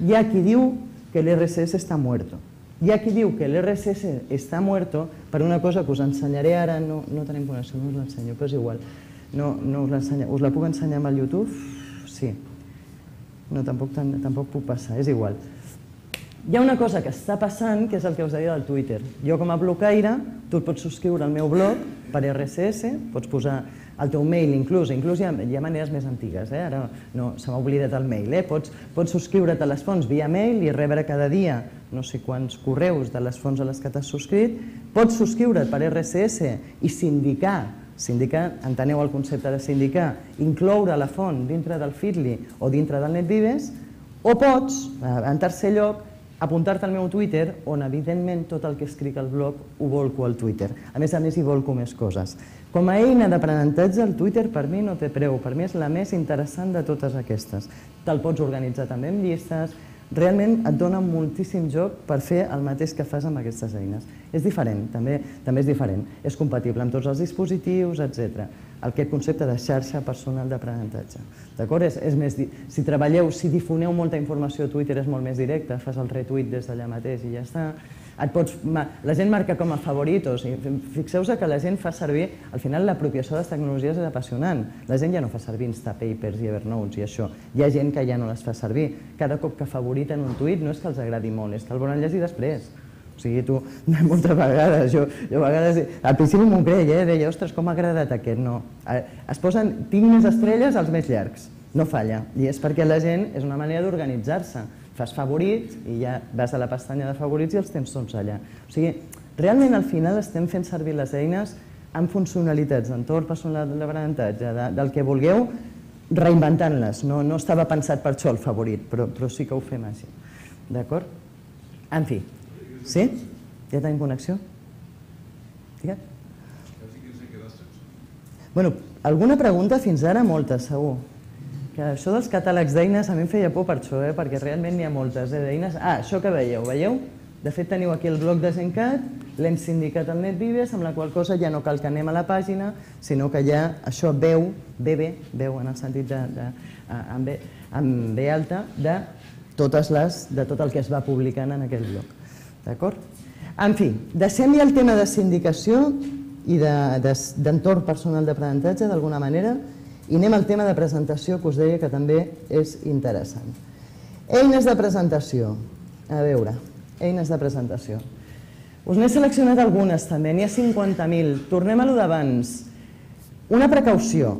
Hi ha qui diu que l'R S S està muerto. Hi ha qui diu que l'R S S està muerto per una cosa que us ensenyaré ara, no tenim connexió, no us l'ensenyo, però és igual. No us l'ensenyo, us la puc ensenyar amb el YouTube? Sí. No, tampoc puc passar, és igual. Hi ha una cosa que està passant, que és el que us deia del Twitter. Jo com a blocaire, tu et pots subscriure al meu blog per R S S, pots posar el teu mail inclús, inclús hi ha maneres més antigues, ara se m'ha oblidat el mail, pots subscriure't a les fonts via mail i rebre cada dia no sé quants correus de les fonts a les que t'has subscrit, pots subscriure't per R S S i sindicar, sindicar, enteneu el concepte de sindicar, incloure la font dintre del Feedly o dintre del NetVives, o pots, en tercer lloc, apuntar-te al meu Twitter, on evidentment tot el que escric al blog ho volco al Twitter. A més a més hi volco més coses. Com a eina d'aprenentatge, el Twitter per mi no té preu, per mi és la més interessant de totes aquestes. Te'l pots organitzar també amb llistes, realment et dona moltíssim joc per fer el mateix que fas amb aquestes eines. És diferent, també és diferent, és compatible amb tots els dispositius, etcètera. Aquest concepte de xarxa personal d'aprenentatge. D'acord? Si treballeu, si difoneu molta informació a Twitter és molt més directe, fas el retweet des d'allà mateix i ja està. La gent marca com a favoritos. Fixeu-vos que la gent fa servir, al final l'apropiació de les tecnologies és apassionant. La gent ja no fa servir Instapapers i Evernotes i això. Hi ha gent que ja no les fa servir. Cada cop que favoriten un tuit no és que els agradi molt, és que el volen llegir després. O sigui, tu, moltes vegades, jo a vegades, al principi m'ho creia, deia, ostres, com m'ha agradat aquest, no. Es posen, tinc més estrelles als més llargs, no falla. I és perquè la gent és una manera d'organitzar-se. Fas favorits i ja vas a la pestanya de favorits i els tens tots allà. O sigui, realment al final estem fent servir les eines amb funcionalitats d'entorn personal d'aprenentatge, del que vulgueu, reinventant-les. No estava pensat per això el favorit, però sí que ho fem així. D'acord? En fi. Sí? Ja tenim connexió? Digue'm. Bueno, alguna pregunta fins ara? Moltes, segur. Això dels catàlegs d'eines a mi em feia por per això, perquè realment n'hi ha moltes d'eines. Ah, això que veieu, veieu? De fet teniu aquí el blog de Zencat, l'hem sindicat al NetVives, amb la qual cosa ja no cal que anem a la pàgina, sinó que ja això veu, ve bé, veu en el sentit de, amb ve alta, de totes les, de tot el que es va publicant en aquell blog. D'acord? En fi, deixem ja el tema de sindicació i d'entorn personal d'aprenentatge, d'alguna manera, i anem al tema de presentació, que us deia que també és interessant. Eines de presentació. A veure, eines de presentació. Us n'he seleccionat algunes també, n'hi ha cinquanta mil. Tornem a lo d'abans. Una precaució.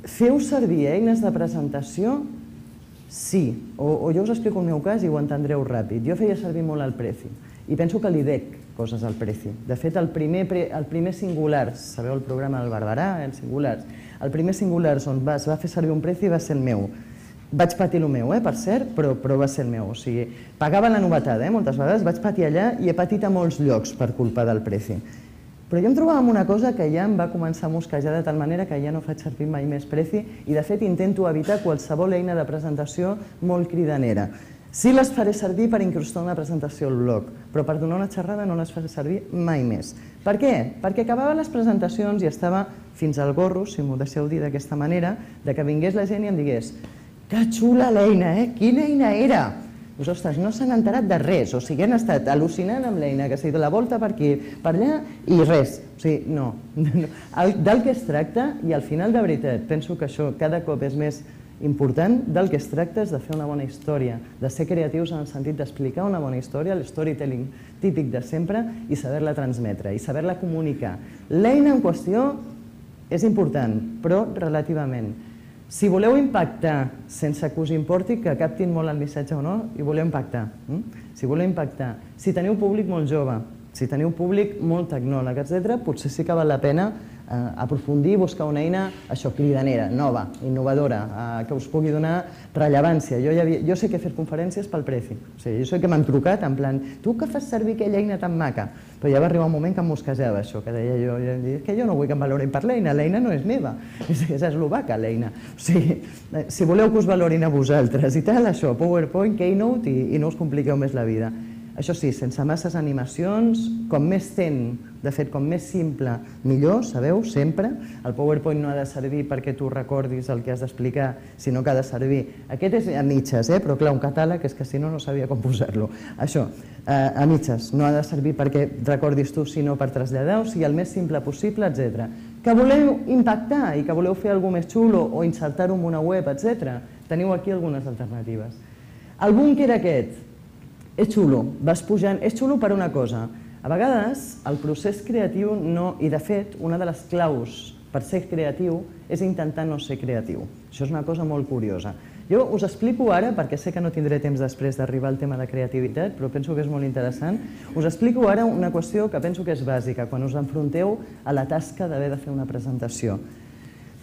Feu servir eines de presentació? Sí. O jo us explico el meu cas i ho entendreu ràpid. Jo feia servir molt el Prezi i penso que li dec coses al Prezi. De fet, el primer Singulars, sabeu el programa del Barberà, el Singulars, el primer Singulars on es va fer servir un Prezi va ser el meu. Vaig patir el meu, per cert, però va ser el meu. O sigui, pagava la novetada, moltes vegades, vaig patir allà i he patit a molts llocs per culpa del Prezi. Però jo em trobava amb una cosa que ja em va començar a mosquejar de tal manera que ja no faig servir mai més Prezi i de fet intento evitar qualsevol eina de presentació molt cridanera. Sí les faré servir per incrustar una presentació al blog, però per donar una xerrada no les faré servir mai més. Per què? Perquè acabava les presentacions i estava fins al gorro, si m'ho deixeu dir d'aquesta manera, de que vingués la gent i em digués que xula l'eina, eh? Quina eina era? Doncs, ostres, no s'han enterat de res, o sigui, han estat al·lucinant amb l'eina, que s'ha dit la volta per aquí, per allà, i res. O sigui, no. Del que es tracta, i al final, de veritat, penso que això cada cop és més important, del que es tracta és de fer una bona història, de ser creatius en el sentit d'explicar una bona història, el storytelling típic de sempre, i saber-la transmetre, i saber-la comunicar. L'eina en qüestió és important, però relativament. Si voleu impactar sense que us importi que captin molt el missatge o no, i voleu impactar. Si voleu impactar, si teniu públic molt jove, si teniu públic molt tecnòleg, etcètera, potser sí que val la pena aprofundir i buscar una eina, això, cridanera, nova, innovadora, que us pugui donar rellevància. Jo sé que he fet conferències pel Prezi, jo sé que m'han trucat en plan, tu que fas servir aquella eina tan maca? Però ja va arribar un moment que em mosquejava això, que deia jo, que jo no vull que em valorin per l'eina, l'eina no és meva, és eslovaca l'eina. O sigui, si voleu que us valorin a vosaltres i tal, això, PowerPoint, Keynote i no us compliqueu més la vida. Això sí, sense masses animacions, com més ten De fet, com més simple, millor, sabeu, sempre. El PowerPoint no ha de servir perquè tu recordis el que has d'explicar, sinó que ha de servir. Aquest és a mitges, eh? Però clar, un catàleg és que si no, no sabia com posar-lo. Això, a mitges, no ha de servir perquè recordis tu, sinó per traslladar, o sigui, el més simple possible, etcètera. Que voleu impactar i que voleu fer alguna més xulo o insertar-ho en una web, etcètera, teniu aquí algunes alternatives. El búnquer aquest és xulo, vas pujant, és xulo per una cosa. A vegades el procés creatiu no, i de fet una de les claus per ser creatiu és intentar no ser creatiu. Això és una cosa molt curiosa. Jo us explico ara, perquè sé que no tindré temps després d'arribar al tema de creativitat, però penso que és molt interessant, us explico ara una qüestió que penso que és bàsica quan us enfronteu a la tasca d'haver de fer una presentació.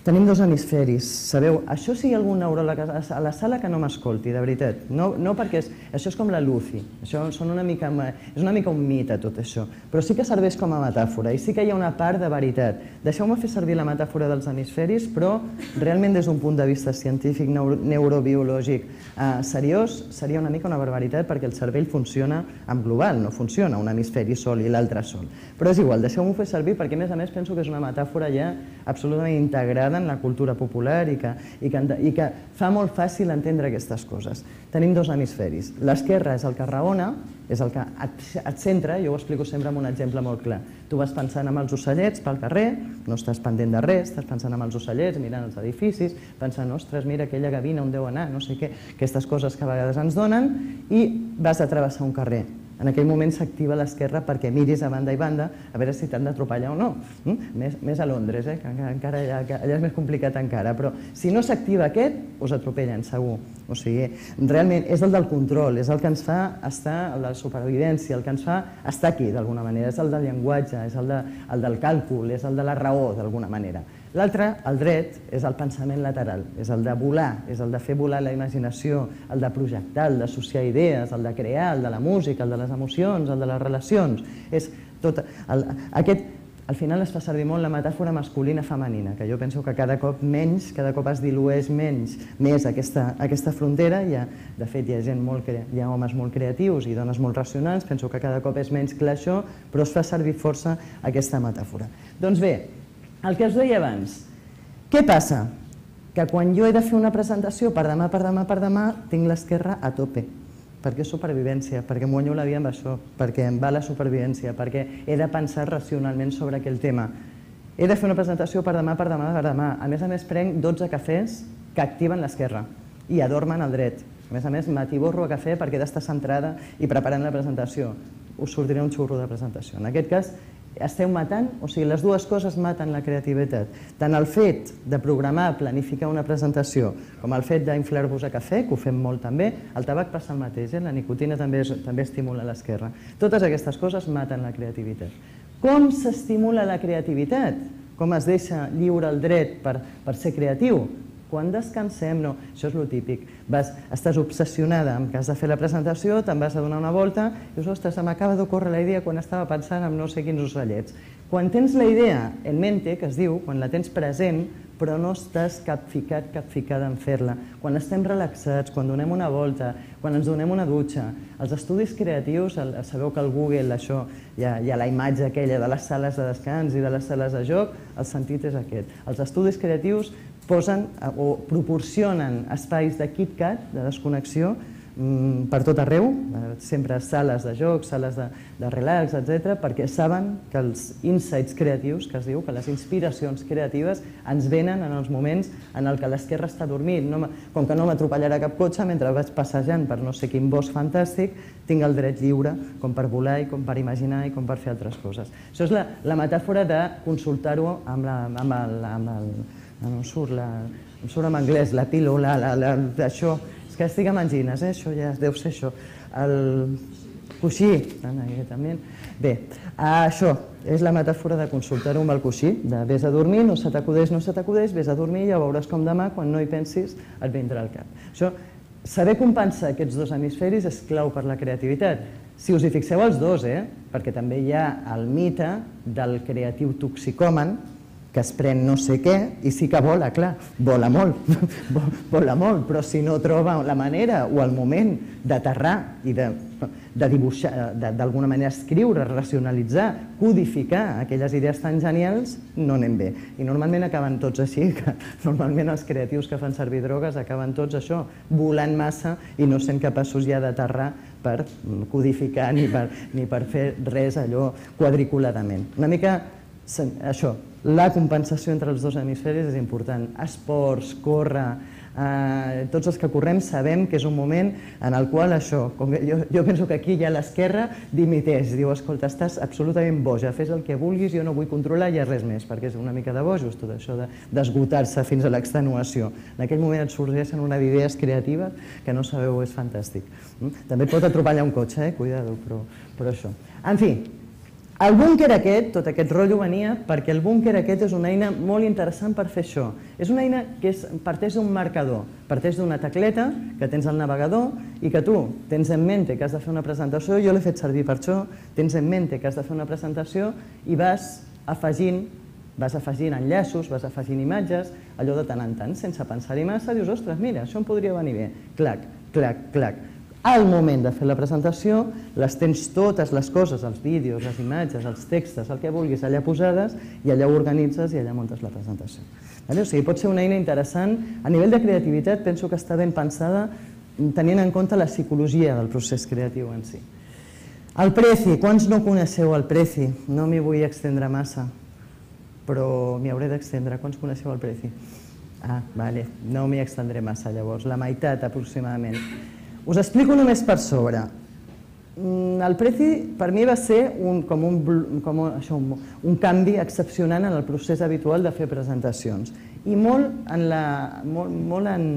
Tenim dos hemisferis, sabeu? Això sí hi ha algun neuròleg a la sala que no m'escolti, de veritat. No perquè això és com la Lucy, això és una mica un mite tot això, però sí que serveix com a metàfora i sí que hi ha una part de veritat. Deixeu-me fer servir la metàfora dels hemisferis, però realment des d'un punt de vista científic, neurobiològic seriós, seria una mica una barbaritat perquè el cervell funciona en global, no funciona un hemisferi sol i l'altre sol. Però és igual, deixeu-m'ho fer servir perquè a més a més penso que és una metàfora ja absolutament integrada en la cultura popular i que fa molt fàcil entendre aquestes coses. Tenim dos hemisferis. L'esquerra és el que raona, és el que et centra, jo ho explico sempre amb un exemple molt clar. Tu vas pensant en els ocellets pel carrer, no estàs pendent de res, estàs pensant en els ocellets, mirant els edificis, pensant, ostres, mira aquella gavina on deu anar, no sé què, aquestes coses que a vegades ens donen, i vas a travessar un carrer. En aquell moment s'activa l'esquerra perquè miris a banda i banda a veure si t'han d'atropellar o no. Més a Londres, que encara allà és més complicat encara, però si no s'activa aquest, us atropellen, segur. O sigui, realment és el del control, és el que ens fa estar, el de la supervivència, el que ens fa estar aquí d'alguna manera, és el del llenguatge, és el del càlcul, és el de la raó d'alguna manera. L'altre, el dret, és el pensament lateral, és el de volar, és el de fer volar la imaginació, el de projectar, el d'associar idees, el de crear, el de la música, el de les emocions, el de les relacions. Aquest, al final es fa servir molt la metàfora masculina-femenina, que jo penso que cada cop menys, cada cop es dilueix menys, més aquesta frontera. De fet, hi ha gent molt, hi ha homes molt creatius i dones molt racionals, penso que cada cop és menys clar això, però es fa servir força aquesta metàfora. Doncs bé, el que us deia abans, què passa? Que quan jo he de fer una presentació per demà, per demà, per demà, tinc l'esquerra a tope, perquè és supervivència, perquè em guanyo la vida amb això, perquè em va la supervivència, perquè he de pensar racionalment sobre aquell tema. He de fer una presentació per demà, per demà, per demà. A més a més, prenc dotze cafès que activen l'esquerra i adormen el dret. A més a més, m'atiborro a cafè perquè he d'estar centrada i preparant la presentació. Us sortirà un xurro de presentació. En aquest cas, esteu matant, o sigui, les dues coses maten la creativitat. Tant el fet de programar, planificar una presentació, com el fet d'inflar-vos a cafè, que ho fem molt també, el tabac passa el mateix, la nicotina també estimula l'esquerra. Totes aquestes coses maten la creativitat. Com s'estimula la creativitat? Com es deixa lliure el dret per ser creatiu? Quan descansem, no, això és el típic. Estàs obsessionada amb que has de fer la presentació, te'n vas a donar una volta i dius, ostres, m'acaba d'ocórrer la idea quan estava pensant en no sé quins ocellets. Quan tens la idea en mente, que es diu, quan la tens present, però no estàs capficat, capficada en fer-la. Quan estem relaxats, quan donem una volta, quan ens donem una dutxa. Els estudis creatius, sabeu que al Google això hi ha la imatge aquella de les sales de descans i de les sales de joc, el sentit és aquest. Els estudis creatius posen o proporcionen espais de KitKat, de desconnexió, per tot arreu, sempre sales de joc, sales de relax, etcètera, perquè saben que els insights creatius, que es diu, que les inspiracions creatives ens venen en els moments en què l'esquerra està dormint. Com que no m'atropellarà cap cotxe, mentre vaig passejant per no sé quin bosc fantàstic, tinc el dret lliure com per volar i com per imaginar i com per fer altres coses. Això és la metàfora de consultar-ho amb el... em surt en anglès, la pílula, això... És que estic amb angines, això ja deu ser això. El coixí, també. Bé, això és la metàfora de consultar-ho amb el coixí, de vés a dormir, no se t'acudeix, no se t'acudeix, vés a dormir i ja veuràs com demà, quan no hi pensis, et vindrà al cap. Això, saber compensar aquests dos hemisferis és clau per la creativitat. Si us hi fixeu els dos, perquè també hi ha el mite del creatiu toxicòman, que es pren no sé què i sí que vola, clar, vola molt, vola molt, però si no troba la manera o el moment d'aterrar i de, de dibuixar, d'alguna manera escriure, racionalitzar, codificar aquelles idees tan genials, no anem bé. I normalment acaben tots així, que normalment els creatius que fan servir drogues acaben tots això, volant massa i no sent capaços ja d'aterrar per codificar ni per, ni per fer res allò quadriculadament. Una mica això, la compensació entre els dos hemisferis és important. Esports, córrer, eh, tots els que correm sabem que és un moment en el qual això, com que jo, jo penso que aquí ja l'esquerra dimiteix, diu, escolta, estàs absolutament boja, fes el que vulguis, jo no vull controlar ja res més, perquè és una mica de bojos tot això d'esgotar-se fins a l'extenuació. En aquell moment et sorgeixen unes idees creatives que no sabeu, és fantàstic. També et pot atropellar un cotxe, eh? Cuidado, però, però això. En fi, el búnquer aquest, tot aquest rotllo venia perquè el búnquer aquest és una eina molt interessant per fer això. És una eina que és, parteix d'un marcador, parteix d'una tecleta que tens al navegador i que tu tens en mente que has de fer una presentació, jo l'he fet servir per això, tens en mente que has de fer una presentació i vas afegint, vas afegint enllaços, vas afegint imatges, allò de tant en tant, sense pensar-hi massa, dius, ostres, mira, això em podria venir bé, clac, clac, clac. Al moment de fer la presentació, les tens totes les coses, els vídeos, les imatges, els textos, el que vulguis, allà posades i allà ho organitzes i allà muntes la presentació. O sigui, pot ser una eina interessant. A nivell de creativitat penso que està ben pensada tenint en compte la psicologia del procés creatiu en si. El Prezi, quants no coneixeu el Prezi? No m'hi vull extendre massa, però m'hi hauré d'extendre. Quants coneixeu el Prezi? Ah, vale, no m'hi extendré massa llavors, la meitat aproximadament. Us explico només per sobre. El Prezi per mi va ser un, com, un, com això, un, un canvi excepcionant en el procés habitual de fer presentacions i molt, en la, molt, molt, en,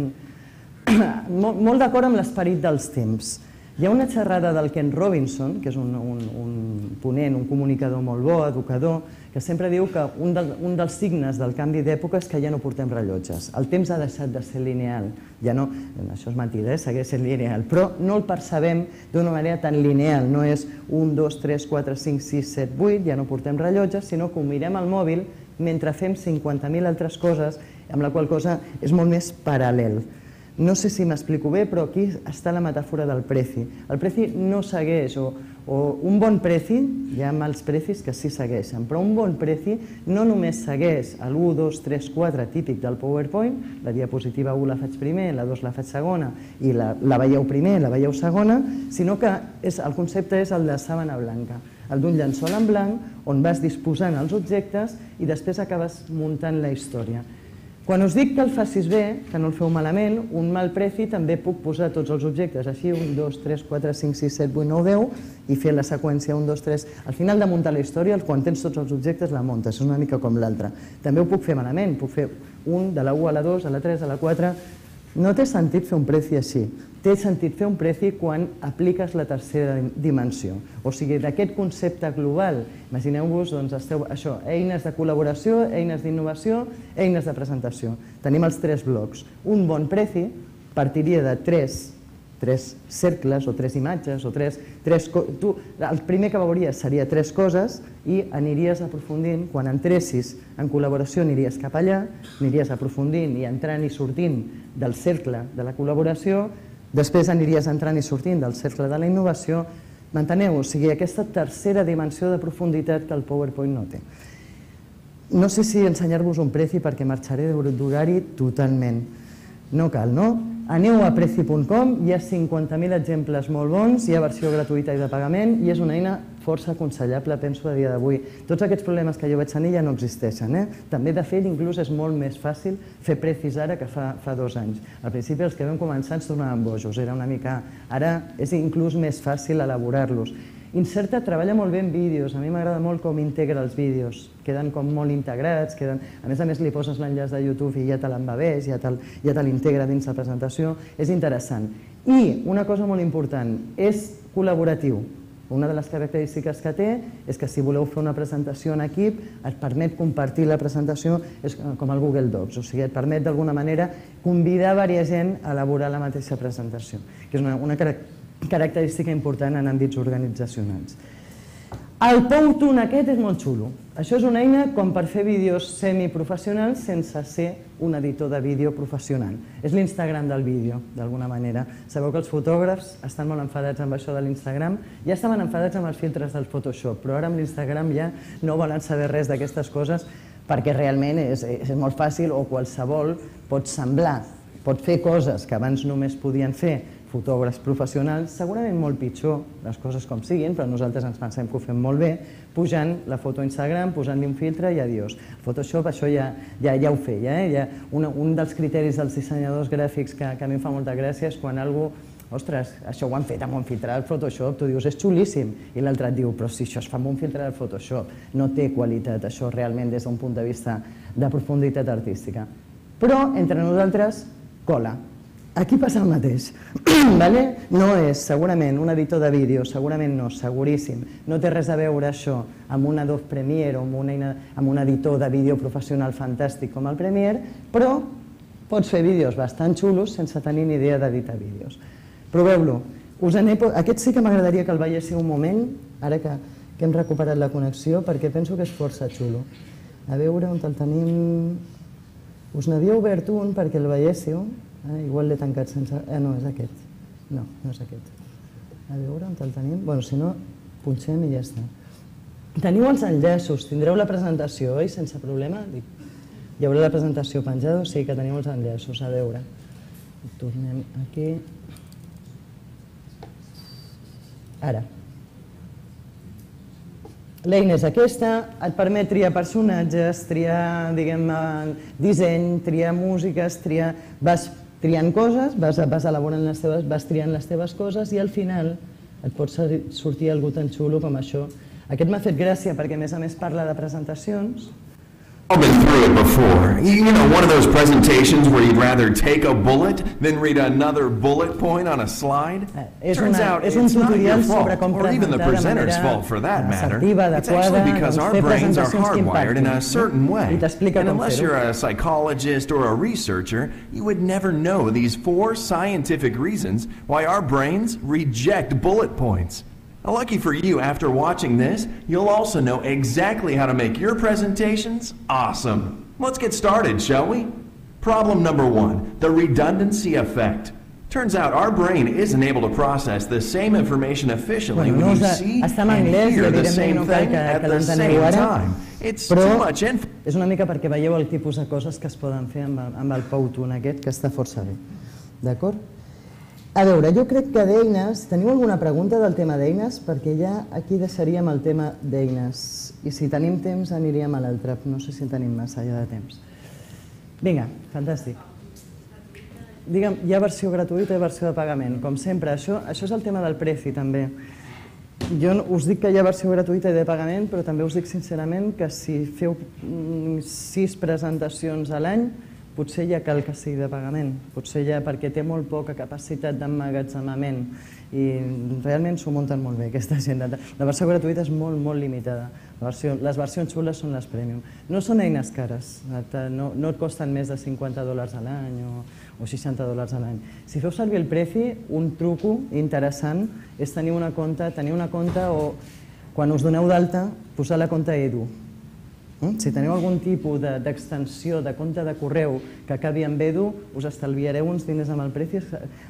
molt, molt d'acord amb l'esperit dels temps. Hi ha una xerrada del Ken Robinson, que és un, un, un ponent, un comunicador molt bo, educador, que sempre diu que un, del, un dels signes del canvi d'època és que ja no portem rellotges. El temps ha deixat de ser lineal. Ja no, això és mentida, eh? Segueix sent lineal, però no el percebem d'una manera tan lineal. No és un, dos, tres, quatre, cinc, sis, set, vuit, ja no portem rellotges, sinó que ho mirem al mòbil mentre fem cinquanta mil altres coses, amb la qual cosa és molt més paral·lel. No sé si m'explico bé, però aquí està la metàfora del Prezi. El Prezi no segueix, o, o un bon Prezi, hi ha mals Prezis que sí segueixen, però un bon Prezi no només segueix l'u, dos, tres, quatre típic del PowerPoint, la diapositiva u la faig primer, la dos la faig segona, i la, la veieu primer, la veieu segona, sinó que és, el concepte és el de sàbana blanca, el d'un llençol en blanc on vas disposant els objectes i després acabes muntant la història. Quan us dic que el facis bé, que no el feu malament, un mal Prezi també puc posar tots els objectes així, un, dos, tres, quatre, cinc, sis, set, vuit, nou, deu, i fer la seqüència un, dos, tres. Al final de muntar la història, quan tens tots els objectes, la muntes, és una mica com l'altra. També ho puc fer malament, puc fer un de la u a la dos, a la tres, a la quatre... No té sentit fer un Prezi així. Té sentit fer un Prezi quan apliques la tercera dimensió. O sigui, d'aquest concepte global, imagineu-vos, doncs, esteu, això, eines de col·laboració, eines d'innovació, eines de presentació. Tenim els tres blocs. Un bon Prezi partiria de tres, tres cercles o tres imatges o tres... tres tu, el primer que veuries seria tres coses i aniries aprofundint, quan entressis en col·laboració aniries cap allà, aniries aprofundint i entrant i sortint del cercle de la col·laboració, després aniries entrant i sortint del cercle de la innovació. M'enteneu? O sigui, aquesta tercera dimensió de profunditat que el PowerPoint no té. No sé si ensenyar-vos un Prezi perquè marxaré d'horari totalment. No cal, no? Aneu a prezi punt com, hi ha cinquanta mil exemples molt bons, hi ha versió gratuïta i de pagament i és una eina força aconsellable, penso, a dia d'avui. Tots aquests problemes que jo vaig tenir ja no existeixen. També, de fet, inclús és molt més fàcil fer Prezis ara que fa dos anys. Al principi els que vam començar ens tornaven bojos, era una mica... Ara és inclús més fàcil elaborar-los. Inserta treballa molt bé en vídeos, a mi m'agrada molt com integra els vídeos, queden com molt integrats, queden... a més a més li poses l'enllaç de YouTube i ja te l'embebés, ja te l'integra dins la presentació, és interessant. I una cosa molt important, és col·laboratiu. Una de les característiques que té és que si voleu fer una presentació en equip et permet compartir la presentació com el Google Docs, o sigui, et permet d'alguna manera convidar diversa gent a elaborar la mateixa presentació, que és una característica característica important en àmbits organitzacionals. El Powtoon aquest és molt xulo. Això és una eina com per fer vídeos semiprofessionals sense ser un editor de vídeo professional. És l'Instagram del vídeo, d'alguna manera. Sabeu que els fotògrafs estan molt enfadats amb això de l'Instagram. Ja estaven enfadats amb els filtres del Photoshop, però ara amb l'Instagram ja no volen saber res d'aquestes coses perquè realment és, és molt fàcil o qualsevol pot semblar, pot fer coses que abans només podien fer fotògrafs professionals, segurament molt pitjor, les coses com siguin, però nosaltres ens pensem que ho fem molt bé, pujant la foto a Instagram, posant-li un filtre i adiós. Photoshop això ja, ja, ja ho feia. Eh? Ja una, un dels criteris dels dissenyadors gràfics que, que a mi em fa molta gràcia és quan algú, ostres, això ho han fet amb un filtre del Photoshop, tu dius, és xulíssim, i l'altre et diu, però si això es fa amb un filtre del Photoshop, no té qualitat, això realment des d'un punt de vista de profunditat artística. Però, entre nosaltres, cola. Aquí passa el mateix, vale? No és segurament un editor de vídeo, segurament no, seguríssim. No té res a veure això amb un Adobe Premiere o amb, una eina, amb un editor de vídeo professional fantàstic com el Premiere, però pots fer vídeos bastant xulos sense tenir ni idea d'editar vídeos. Proveu-lo. Aquest sí que m'agradaria que el veiéssiu un moment, ara que, que hem recuperat la connexió, perquè penso que és força xulo. A veure on el tenim... Us n'havia obert un perquè el veiéssiu. Ah, igual l'he tancat sense... Ah, no, és aquest. No, no és aquest. A veure on el tenim. Bueno, si no, punxem i ja està. Teniu els enllaços, tindreu la presentació, oi? Sense problema? Hi haurà la presentació penjada? Sí, que teniu els enllaços. A veure. Tornem aquí. Ara. L'eina és aquesta, et permet triar personatges, triar, diguem, disseny, triar músiques, triar... Vas triant coses, vas, vas elaborant les teves, vas triant les teves coses i al final et pot sortir algú tan xulo com això. Aquest m'ha fet gràcia perquè a més a més parla de presentacions. I've been through it before. You know, one of those presentations where you'd rather take a bullet than read another bullet point on a slide? Turns out it's not your fault, or even the presenter's fault for that matter. It's actually because our brains are hardwired in a certain way. And unless you're a psychologist or a researcher, you would never know these four scientific reasons why our brains reject bullet points. Lucky for you, after watching this, you'll also know exactly how to make your presentations awesome. Let's get started, shall we? Problem number one, the redundancy effect. Turns out our brain isn't able to process the same information efficiently when you see and hear the same thing at the same time. It's too much info. És una mica perquè veieu el tipus de coses que es poden fer amb el Powtoon aquest, que està força bé. D'acord? A veure, jo crec que d'eines... Teniu alguna pregunta del tema d'eines? Perquè ja aquí deixaríem el tema d'eines. I si tenim temps aniríem a l'altre. No sé si tenim massa ja de temps. Vinga, fantàstic. Digue'm, hi ha versió gratuïta i versió de pagament. Com sempre, això, això és el tema del preci també. Jo us dic que hi ha versió gratuïta i de pagament, però també us dic sincerament que si feu sis presentacions a l'any, potser ja cal que sigui de pagament, potser ja perquè té molt poca capacitat d'emmagatzemament i realment s'ho munten molt bé aquesta gent. La versió gratuïta és molt, molt limitada. Les versions xules són les premium. No són eines cares, no et costen més de cinquanta dòlars a l'any o seixanta dòlars a l'any. Si feu servir el preci, un truco interessant és tenir una compte, tenir una compte o quan us doneu d'alta, posar la compte Edu. Si teniu algun tipus d'extensió de compte de correu que acabi amb Edu, us estalviareu uns diners amb el preci.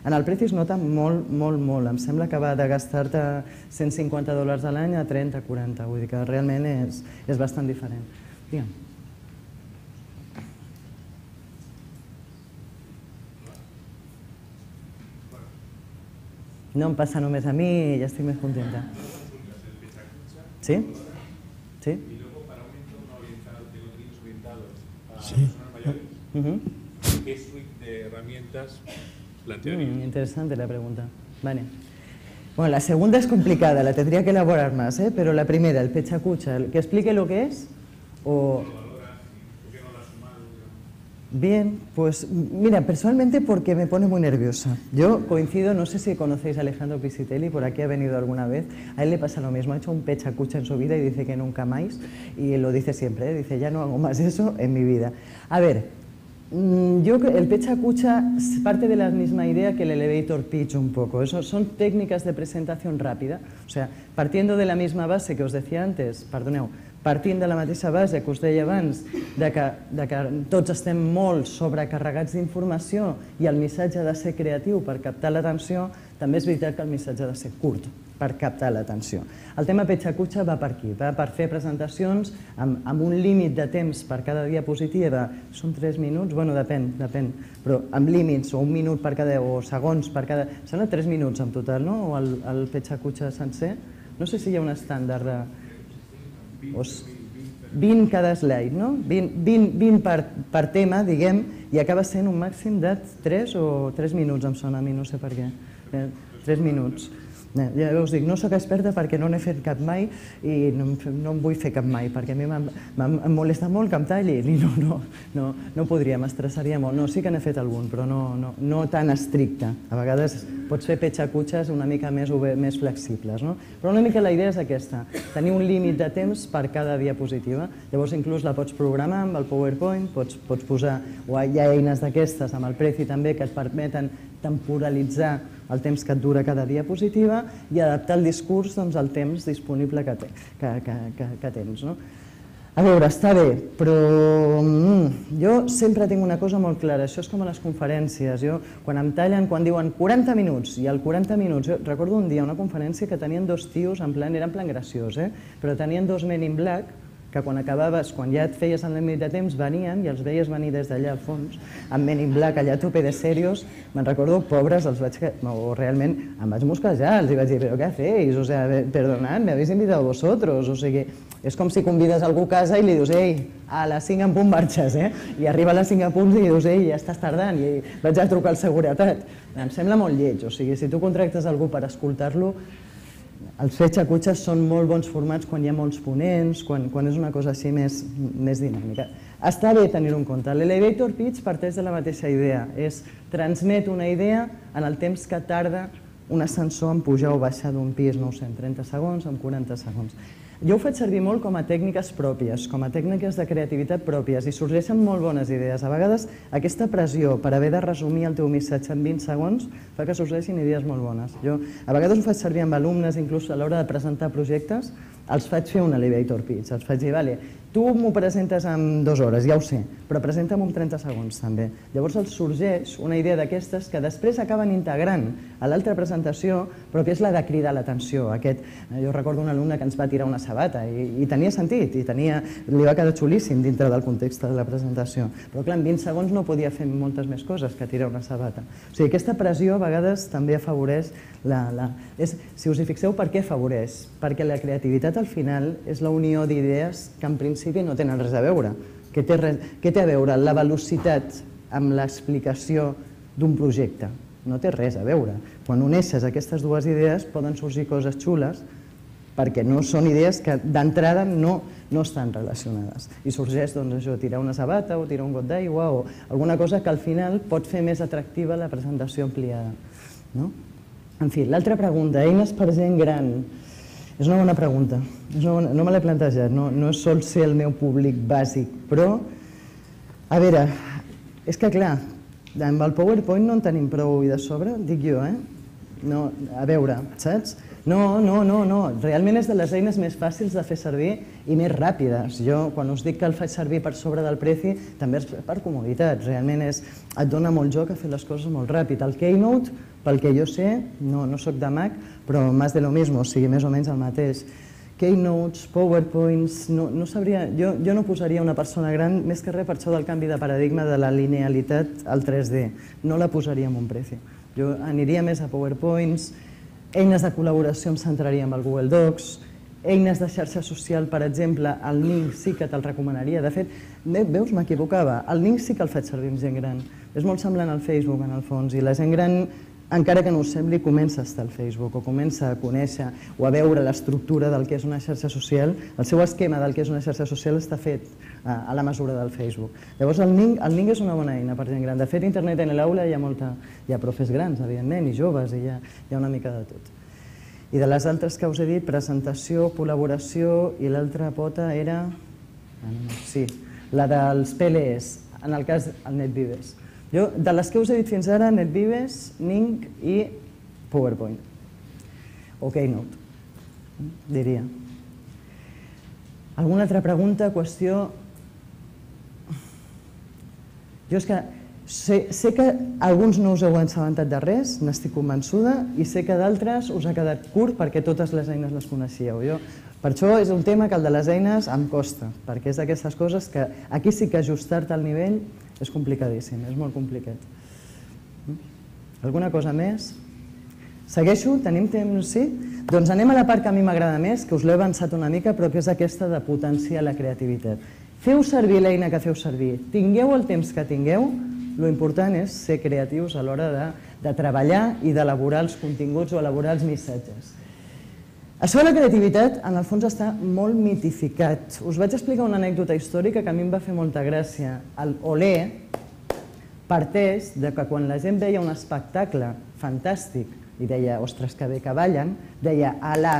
En el preci es nota molt, molt, molt. Em sembla que va de gastar-te cent cinquanta dòlars a l'any a trenta, quaranta. Vull dir que realment és bastant diferent. Digue'm. No em passa només a mi i ja estic més contenta. Sí? Sí? Sí. Uh-huh. ¿Qué suite de herramientas plantearía? Mm, interesante la pregunta. Vale. Bueno, la segunda es complicada, la tendría que elaborar más, ¿eh? Pero la primera, el pechacucha, ¿que explique lo que es? O... Bien, pues mira, personalmente porque me pone muy nerviosa. Yo coincido, no sé si conocéis a Alejandro Pisitelli, por aquí ha venido alguna vez, a él le pasa lo mismo, ha hecho un pechacucha en su vida y dice que nunca más, y lo dice siempre, ¿eh? Dice, ya no hago más eso en mi vida. A ver, Yo, el pecha cucha parte de la misma idea que el elevator pitch un poco. Eso son técnicas de presentación rápida. O sea, partiendo de la misma base que os decía antes, perdoneu, partint de la mateixa base que us deia abans, de que, de que tots estem molt sobrecarregats d'informació i el missatge ha de ser creatiu per captar l'atenció, també és veritat que el missatge ha de ser curt per captar l'atenció. El tema petxa-cutxa va per aquí, va per fer presentacions amb, amb un límit de temps per cada diapositiva, són tres minuts, bueno, depèn, depèn, però amb límits, o un minut per cada, o segons per cada... Sembla tres minuts en total, no?, o el, el petxa-cutxa sencer? No sé si hi ha un estàndard de... vint cada slide, no? vint per, per tema, diguem, i acaba sent un màxim de tres o tres minuts, em sona a mi, no sé per què. tres minuts. Ja us dic, no soc experta perquè no n'he fet cap mai i no, no en vull fer cap mai, perquè a mi em molesta molt que em tallin i no, no, no, no podria, m'estressaria molt. No, sí que n'he fet algun, però no, no, no tan estricte. A vegades pots fer petxa-cutxes una mica més, més flexibles, no? Però una mica la idea és aquesta, tenir un límit de temps per cada diapositiva. Llavors inclús la pots programar amb el PowerPoint, pots, pots posar, o hi ha eines d'aquestes amb el Prezi també que et permeten temporalitzar el temps que et dura cada diapositiva i adaptar el discurs doncs, al temps disponible que, te, que, que, que, que tens. No? A veure, està bé, però mm, jo sempre tinc una cosa molt clara, això és com a les conferències, jo, quan em tallen, quan diuen quaranta minuts, i al quaranta minuts, jo recordo un dia una conferència que tenien dos tios, en plan, era en plan graciós, eh? Però tenien dos men in black, que quan acabaves, quan ja et feies el límit de temps, venien i els veies venir des d'allà al fons, amb men in black, allà a tope de serios, me'n recordo, pobres, els vaig, o realment em vaig mosquejar, els vaig dir, però què feu? O sea, perdonad, me habéis invitado vosotros, o sigui, és com si convides algú a casa i li dius, ei, a les cinc en punt marxes, eh? I arriba a les cinc en punt i li dius, ei, ja estàs tardant, i vaig a trucar al seguretat. Em sembla molt lleig, o sigui, si tu contractes algú per escoltar-lo, els petxa-cutxes són molt bons formats quan hi ha molts ponents, quan, quan és una cosa així més, més dinàmica. Està bé tenir-ho en compte. L'elevator pitch parteix de la mateixa idea, és transmet una idea en el temps que tarda un ascensor en pujar o baixar d'un pis, no ho sé, en trenta segons, en quaranta segons. Jo ho faig servir molt com a tècniques pròpies, com a tècniques de creativitat pròpies i sorgeixen molt bones idees. A vegades aquesta pressió per haver de resumir el teu missatge en vint segons fa que sorgeixin idees molt bones. Jo a vegades ho faig servir amb alumnes, inclús a l'hora de presentar projectes, els faig fer un elevator pitch, els faig dir, vale, tu m'ho presentes en dues hores, ja ho sé, però presenta'm en trenta segons també. Llavors els sorgeix una idea d'aquestes que després acaben integrant a l'altra presentació, però que és la de cridar l'atenció. Jo recordo un alumne que ens va tirar una sabata i tenia sentit, i li va quedar xulíssim dintre del context de la presentació. Però clar, en vint segons no podia fer moltes més coses que tirar una sabata. O sigui, aquesta pressió a vegades també afavoreix la... Si us hi fixeu, per què afavoreix? Perquè la creativitat al final és la unió d'idees que en principi no tenen res a veure. Què té, res, què té a veure la velocitat amb l'explicació d'un projecte? No té res a veure. Quan uneixes aquestes dues idees poden sorgir coses xules perquè no són idees que d'entrada no, no estan relacionades. I sorgeix doncs, això, tirar una sabata o tirar un got d'aigua o alguna cosa que al final pot fer més atractiva la presentació ampliada. No? En fi, l'altra pregunta, eines per gent gran. És una bona pregunta, no me l'he plantejat, no sol ser el meu públic bàsic, però, a veure, és que clar, amb el PowerPoint no en tenim prou i de sobre, dic jo, eh? No, a veure, saps? No, no, no, no, realment és de les eines més fàcils de fer servir i més ràpides. Jo, quan us dic que el faig servir per sobre del Prezi, també és per comoditat, realment és, et dona molt joc a fer les coses molt ràpid. El Keynote, pel que jo sé, no, no soc de Mac, però més de lo mismo, o sigui, més o menys el mateix. Keynotes, PowerPoints, no, no sabria, jo, jo no posaria una persona gran, més que res per això del canvi de paradigma de la linealitat al tres D, no la posaria en un Prezi. Jo aniria més a PowerPoints, eines de col·laboració em centraria en el Google Docs, eines de xarxa social, per exemple, el Ning sí que te'l recomanaria. De fet, veus, m'equivocava, el Ning sí que el faig servir amb gent gran. És molt semblant al Facebook, en el fons, i la gent gran, encara que no us sembli, comença a estar al Facebook o comença a conèixer o a veure l'estructura del que és una xarxa social. El seu esquema del que és una xarxa social està fet a la mesura del Facebook. Llavors, el Ning, el Ning és una bona eina per gent gran. De fet, a Internet en l'aula hi ha molta, hi ha profes grans, evidentment, i joves, i hi ha, hi ha una mica de tot. I de les altres que us he dit, presentació, col·laboració, i l'altra pota era... Sí, la dels P L Es. en el cas del NetVives. Jo, de les que us he dit fins ara, NetVives, Ning i PowerPoint. O Keynote, diria. Alguna altra pregunta, qüestió? Jo és que sé que alguns no us heu assabentat de res, n'estic convençuda, i sé que d'altres us ha quedat curt perquè totes les eines les coneixíeu. Per això és un tema que el de les eines em costa, perquè és d'aquestes coses que aquí sí que ajustar-te al nivell és complicadíssim, és molt complicat. Alguna cosa més? Segueixo? Tenim temps? Sí? Doncs anem a la part que a mi m'agrada més, que us l'he avançat una mica, però que és aquesta de potenciar la creativitat. Feu servir l'eina que feu servir. Tingueu el temps que tingueu, l'important és ser creatius a l'hora de treballar i d'elaborar els continguts o elaborar els missatges. Això de la creativitat, en el fons, està molt mitificat. Us vaig explicar una anècdota històrica que a mi em va fer molta gràcia. El Olé parteix de que quan la gent veia un espectacle fantàstic i deia, ostres, que bé que ballen, deia, Alá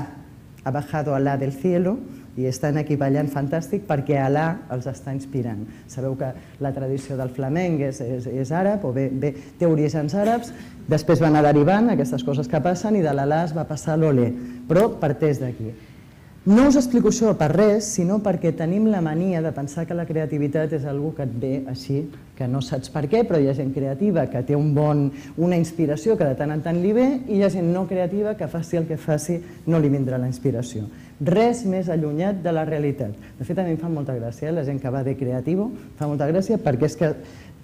ha bajado Alá del cielo, i estan aquí ballant fantàstic perquè Alà els està inspirant. Sabeu que la tradició del flamenc és àrab, o bé té orígens àrabs, després va anar derivant aquestes coses que passen i de l'Alà es va passar a l'Olé, però parteix d'aquí. No us explico això per res, sinó perquè tenim la mania de pensar que la creativitat és una cosa que et ve així, que no saps per què, però hi ha gent creativa que té una inspiració que de tant en tant li ve i hi ha gent no creativa que faci el que faci no li vindrà la inspiració. Res més allunyat de la realitat. De fet, a mi em fa molta gràcia, la gent que va de creativo, fa molta gràcia perquè és que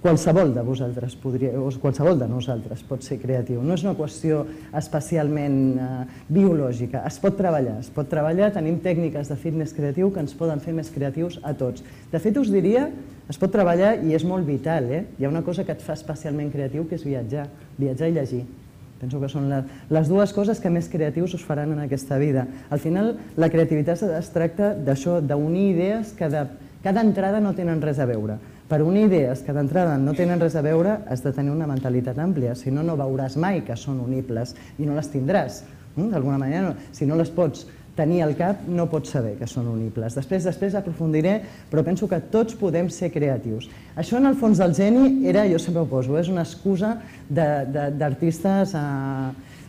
qualsevol de vosaltres podria, o qualsevol de nosaltres pot ser creatiu. No és una qüestió especialment biològica, es pot treballar, es pot treballar, tenim tècniques de fitness creatiu que ens poden fer més creatius a tots. De fet, us diria, es pot treballar i és molt vital, hi ha una cosa que et fa especialment creatiu que és viatjar, viatjar i llegir. Penso que són les dues coses que més creatius us faran en aquesta vida. Al final, la creativitat es tracta d'això, d'unir idees que d'entrada no tenen res a veure. Per unir idees que d'entrada no tenen res a veure has de tenir una mentalitat àmplia, si no, no veuràs mai que són unibles i no les tindràs. D'alguna manera, si no les pots tenir al cap, no pots saber que són unibles. Després, després aprofundiré, però penso que tots podem ser creatius. Això, en el fons del geni, era, jo sempre ho poso, és una excusa d'artistes,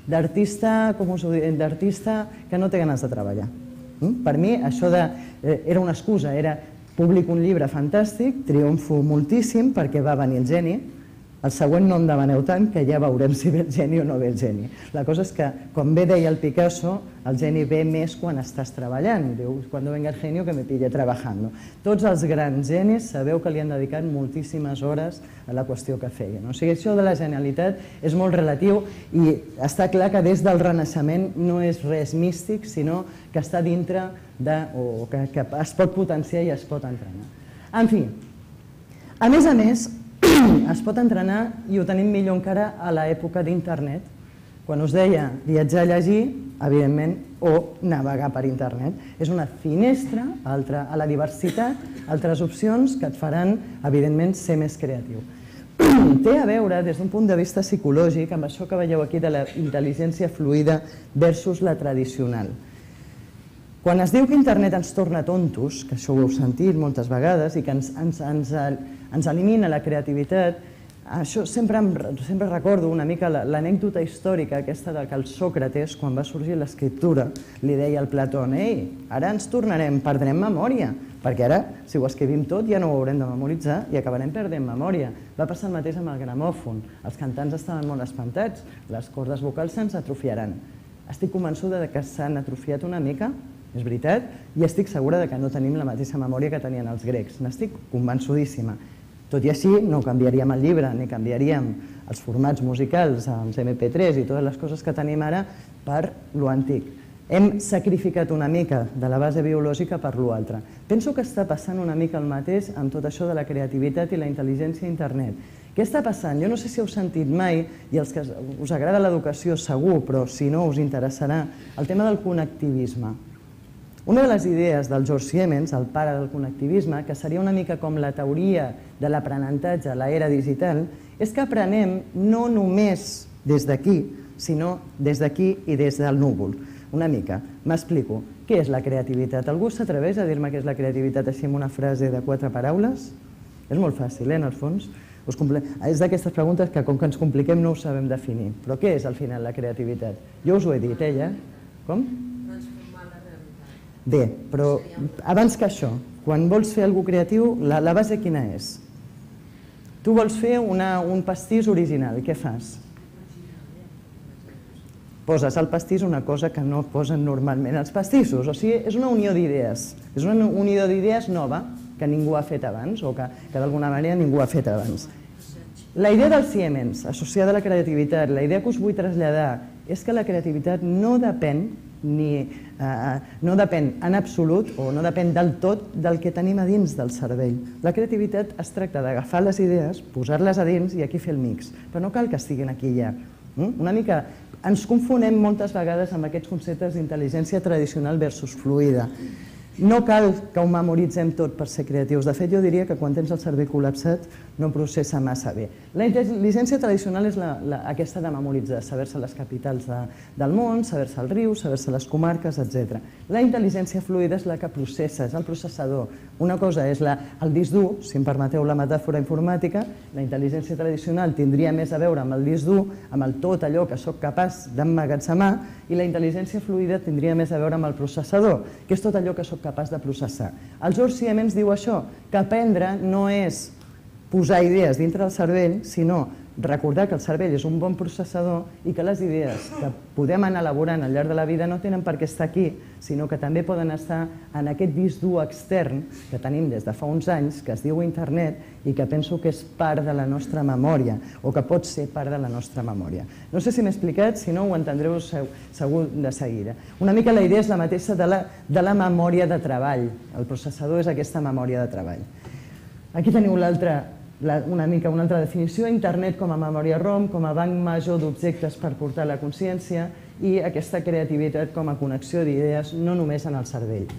d'artista, com us ho dic, d'artista que no té ganes de treballar. Per mi, això era una excusa, era publico un llibre fantàstic, triomfo moltíssim perquè va venir el geni, el següent no em demaneu tant que ja veurem si ve el geni o no ve el geni. La cosa és que, com bé deia el Picasso, el geni ve més quan estàs treballant. Diu, quan venga el genio que me pille trabajando. Tots els grans genis sabeu que li han dedicat moltíssimes hores a la qüestió que feien. O sigui, això de la genialitat és molt relatiu i està clar que des del Renaixement no és res místic, sinó que està dintre de, o que es pot potenciar i es pot entrenar. En fi, a més a més, es pot entrenar, i ho tenim millor encara a l'època d'internet. Quan us deia viatjar a llegir, evidentment, o navegar per internet. És una finestra a la diversitat, altres opcions que et faran, evidentment, ser més creatiu. Té a veure, des d'un punt de vista psicològic, amb això que veieu aquí de la intel·ligència fluida versus la tradicional. Quan es diu que internet ens torna tontos, que això ho heu sentit moltes vegades, i que ens elimina la creativitat, això sempre recordo una mica l'anècdota històrica aquesta que el Sòcrates, quan va sorgir l'escriptura, li deia al Platón, ei, ara ens tornarem, perdrem memòria, perquè ara, si ho escrivim tot, ja no ho haurem de memoritzar i acabarem perdent memòria. Va passar el mateix amb el gramòfon. Els cantants estaven molt espantats, les cordes vocals se'ns atrofiaran. Estic convençuda que s'han atrofiat una mica, és veritat, i estic segura que no tenim la mateixa memòria que tenien els grecs. N'estic convençudíssima. Tot i així, no canviaríem el llibre, ni canviaríem els formats musicals, els eme pe tres i totes les coses que tenim ara per lo antic. Hem sacrificat una mica de la base biològica per l'altre. Penso que està passant una mica el mateix amb tot això de la creativitat i la intel·ligència a internet. Què està passant? Jo no sé si heu sentit mai, i els que us agrada l'educació segur, però si no us interessarà, el tema del connectivisme. Una de les idees del George Siemens, el pare del connectivisme, que seria una mica com la teoria de l'aprenentatge a l'era digital, és que aprenem no només des d'aquí, sinó des d'aquí i des del núvol. Una mica. M'explico. Què és la creativitat? Algú s'atreveix a dir-me què és la creativitat així amb una frase de quatre paraules? És molt fàcil, eh, en el fons. És d'aquestes preguntes que, com que ens compliquem, no ho sabem definir. Però què és, al final, la creativitat? Jo us ho he dit, eh, ja? Com? Transformar la realitat. Bé, però abans que això, quan vols fer alguna cosa creatiu, la base quina és? Tu vols fer un pastís original, què fas? Poses al pastís una cosa que no posen normalment els pastissos, o sigui, és una unió d'idees, és una unió d'idees nova que ningú ha fet abans o que d'alguna manera ningú ha fet abans. La idea del Siemens, associada a la creativitat, la idea que us vull traslladar és que la creativitat no depèn no depèn en absolut o no depèn del tot del que tenim a dins del cervell. La creativitat es tracta d'agafar les idees, posar-les a dins i aquí fer el mix, però no cal que estiguin aquí ja. Una mica ens confonem moltes vegades amb aquests conceptes d'intel·ligència tradicional versus fluida. No cal que ho memoritzem tot per ser creatius. De fet, jo diria que quan tens el cervell col·lapsat no processa massa bé. La intel·ligència tradicional és aquesta de memoritzar, saber-se les capitals del món, saber-se els rius, saber-se les comarques, etcètera. La intel·ligència fluida és la que processa, és el processador. Una cosa és el disc dur, si em permeteu la metàfora informàtica, la intel·ligència tradicional tindria més a veure amb el disc dur, amb el tot allò que sóc capaç d'emmagatzemar, i la intel·ligència fluida tindria més a veure amb el processador, que és tot allò que sóc capaç de processar. El George Siemens diu això, que aprendre no és posar idees dintre del cervell, sinó recordar que el cervell és un bon processador i que les idees que podem anar elaborant al llarg de la vida no tenen per què estar aquí, sinó que també poden estar en aquest disc dur extern que tenim des de fa uns anys, que es diu internet i que penso que és part de la nostra memòria o que pot ser part de la nostra memòria. No sé si m'he explicat, si no ho entendreu segur de seguida. Una mica la idea és la mateixa de la memòria de treball. El processador és aquesta memòria de treball. Aquí teniu l'altra una mica una altra definició, internet com a memòria ROM, com a banc major d'objectes per portar la consciència i aquesta creativitat com a connexió d'idees no només en el cervell.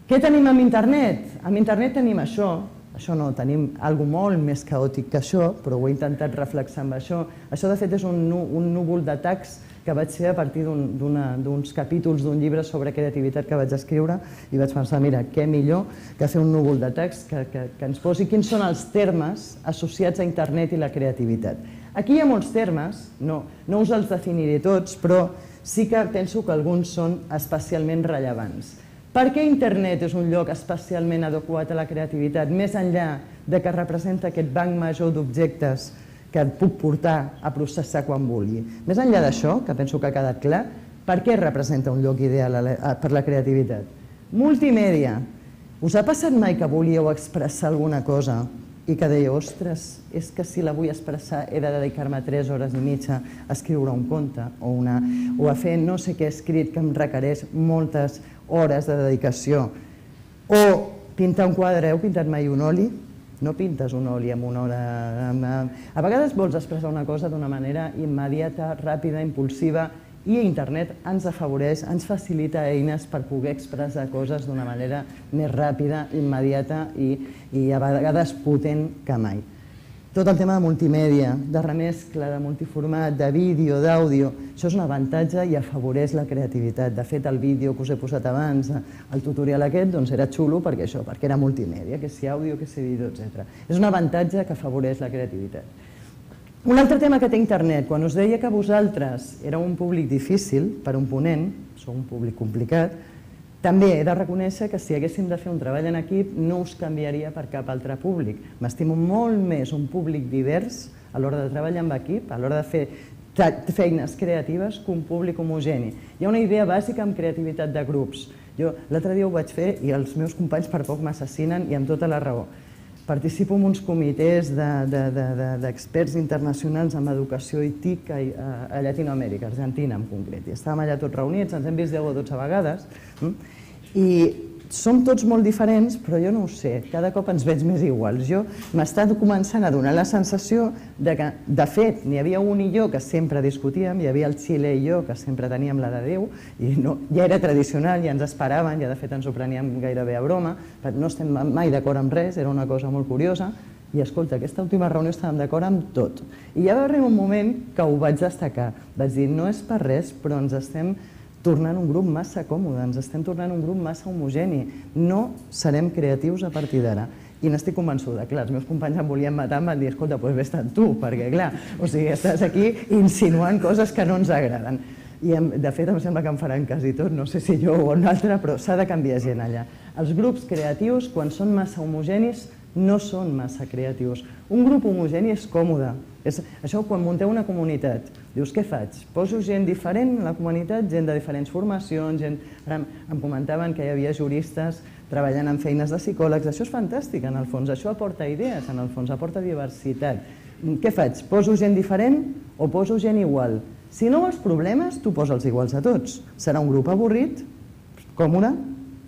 Què tenim amb internet? Amb internet tenim això, això no, tenim alguna cosa molt més caòtic que això, però ho he intentat reflexar amb això. Això de fet és un núvol d'atacs que vaig fer a partir d'uns capítols d'un llibre sobre creativitat que vaig escriure i vaig pensar, mira, què millor que fer un núvol de text que ens posi quins són els termes associats a internet i la creativitat. Aquí hi ha molts termes, no us els definiré tots, però sí que penso que alguns són especialment rellevants. Per què internet és un lloc especialment adequat a la creativitat, més enllà que representa aquest banc major d'objectes que et puc portar a processar quan vulgui? Més enllà d'això, que penso que ha quedat clar, per què representa un lloc ideal per la creativitat? Multimèdia. Us ha passat mai que volíeu expressar alguna cosa i que dèieu, ostres, és que si la vull expressar he de dedicar-me tres hores i mitja a escriure un conte o a fer no sé què escrit que em requereix moltes hores de dedicació? O pintar un quadre, heu pintat mai un oli? No pintes un oli en una hora. A vegades vols expressar una cosa d'una manera immediata, ràpida, impulsiva, i internet ens afavoreix, ens facilita eines per poder expressar coses d'una manera més ràpida, immediata i a vegades potent que mai. Tot el tema de multimèdia, de remescla, de multiformat, de vídeo, d'àudio, això és un avantatge i afavoreix la creativitat. De fet, el vídeo que us he posat abans, el tutorial aquest, doncs era xulo perquè això, perquè era multimèdia, que si àudio, que si vídeo, etcètera. És un avantatge que afavoreix la creativitat. Un altre tema que té internet, quan us deia que vosaltres éreu un públic difícil per un ponent, sou un públic complicat, també he de reconèixer que si haguéssim de fer un treball en equip no us canviaria per cap altre públic. M'estimo molt més un públic divers a l'hora de treballar amb equip, a l'hora de fer feines creatives, que un públic homogeni. Hi ha una idea bàsica amb creativitat de grups. Jo l'altre dia ho vaig fer i els meus companys per poc m'assassinen i amb tota la raó. Participo en uns comitès d'experts internacionals en educació i T I C a Llatinoamèrica, Argentina en concret. I estàvem allà tots reunits, ens hem vist deu o dotze vegades, i som tots molt diferents, però jo no ho sé, cada cop ens veig més iguals. Jo m'està començant a donar la sensació que, de fet, n'hi havia un i jo que sempre discutíem, hi havia el Xile i jo que sempre teníem la de Déu, i ja era tradicional, ja ens esperaven, ja de fet ens ho preníem gairebé a broma, no estem mai d'acord amb res, era una cosa molt curiosa, i escolta, aquesta última reunió estàvem d'acord amb tot. I ja va arribar un moment que ho vaig destacar, vaig dir, no és per res, però ens estem tornant un grup massa còmode, ens estem tornant un grup massa homogeni, no serem creatius a partir d'ara. i n'estic convençuda. Clar, els meus companys em volien matar, em van dir, escolta, doncs vés-te'n tu, perquè clar, o sigui, estàs aquí insinuant coses que no ens agraden. I de fet em sembla que em faran quasi tot, no sé si jo o un altre, però s'ha de canviar gent allà. Els grups creatius, quan són massa homogenis, no són massa creatius. Un grup homogeni és còmode. Això, quan munteu una comunitat, dius, què faig? Poso gent diferent a la comunitat, gent de diferents formacions, gent... Ara em comentaven que hi havia juristes treballant en feines de psicòlegs. Això és fantàstic, en el fons. Això aporta idees, en el fons, aporta diversitat. Què faig? Poso gent diferent o poso gent igual? Si no vols problemes, tu posa'ls iguals a tots. Serà un grup avorrit, còmode,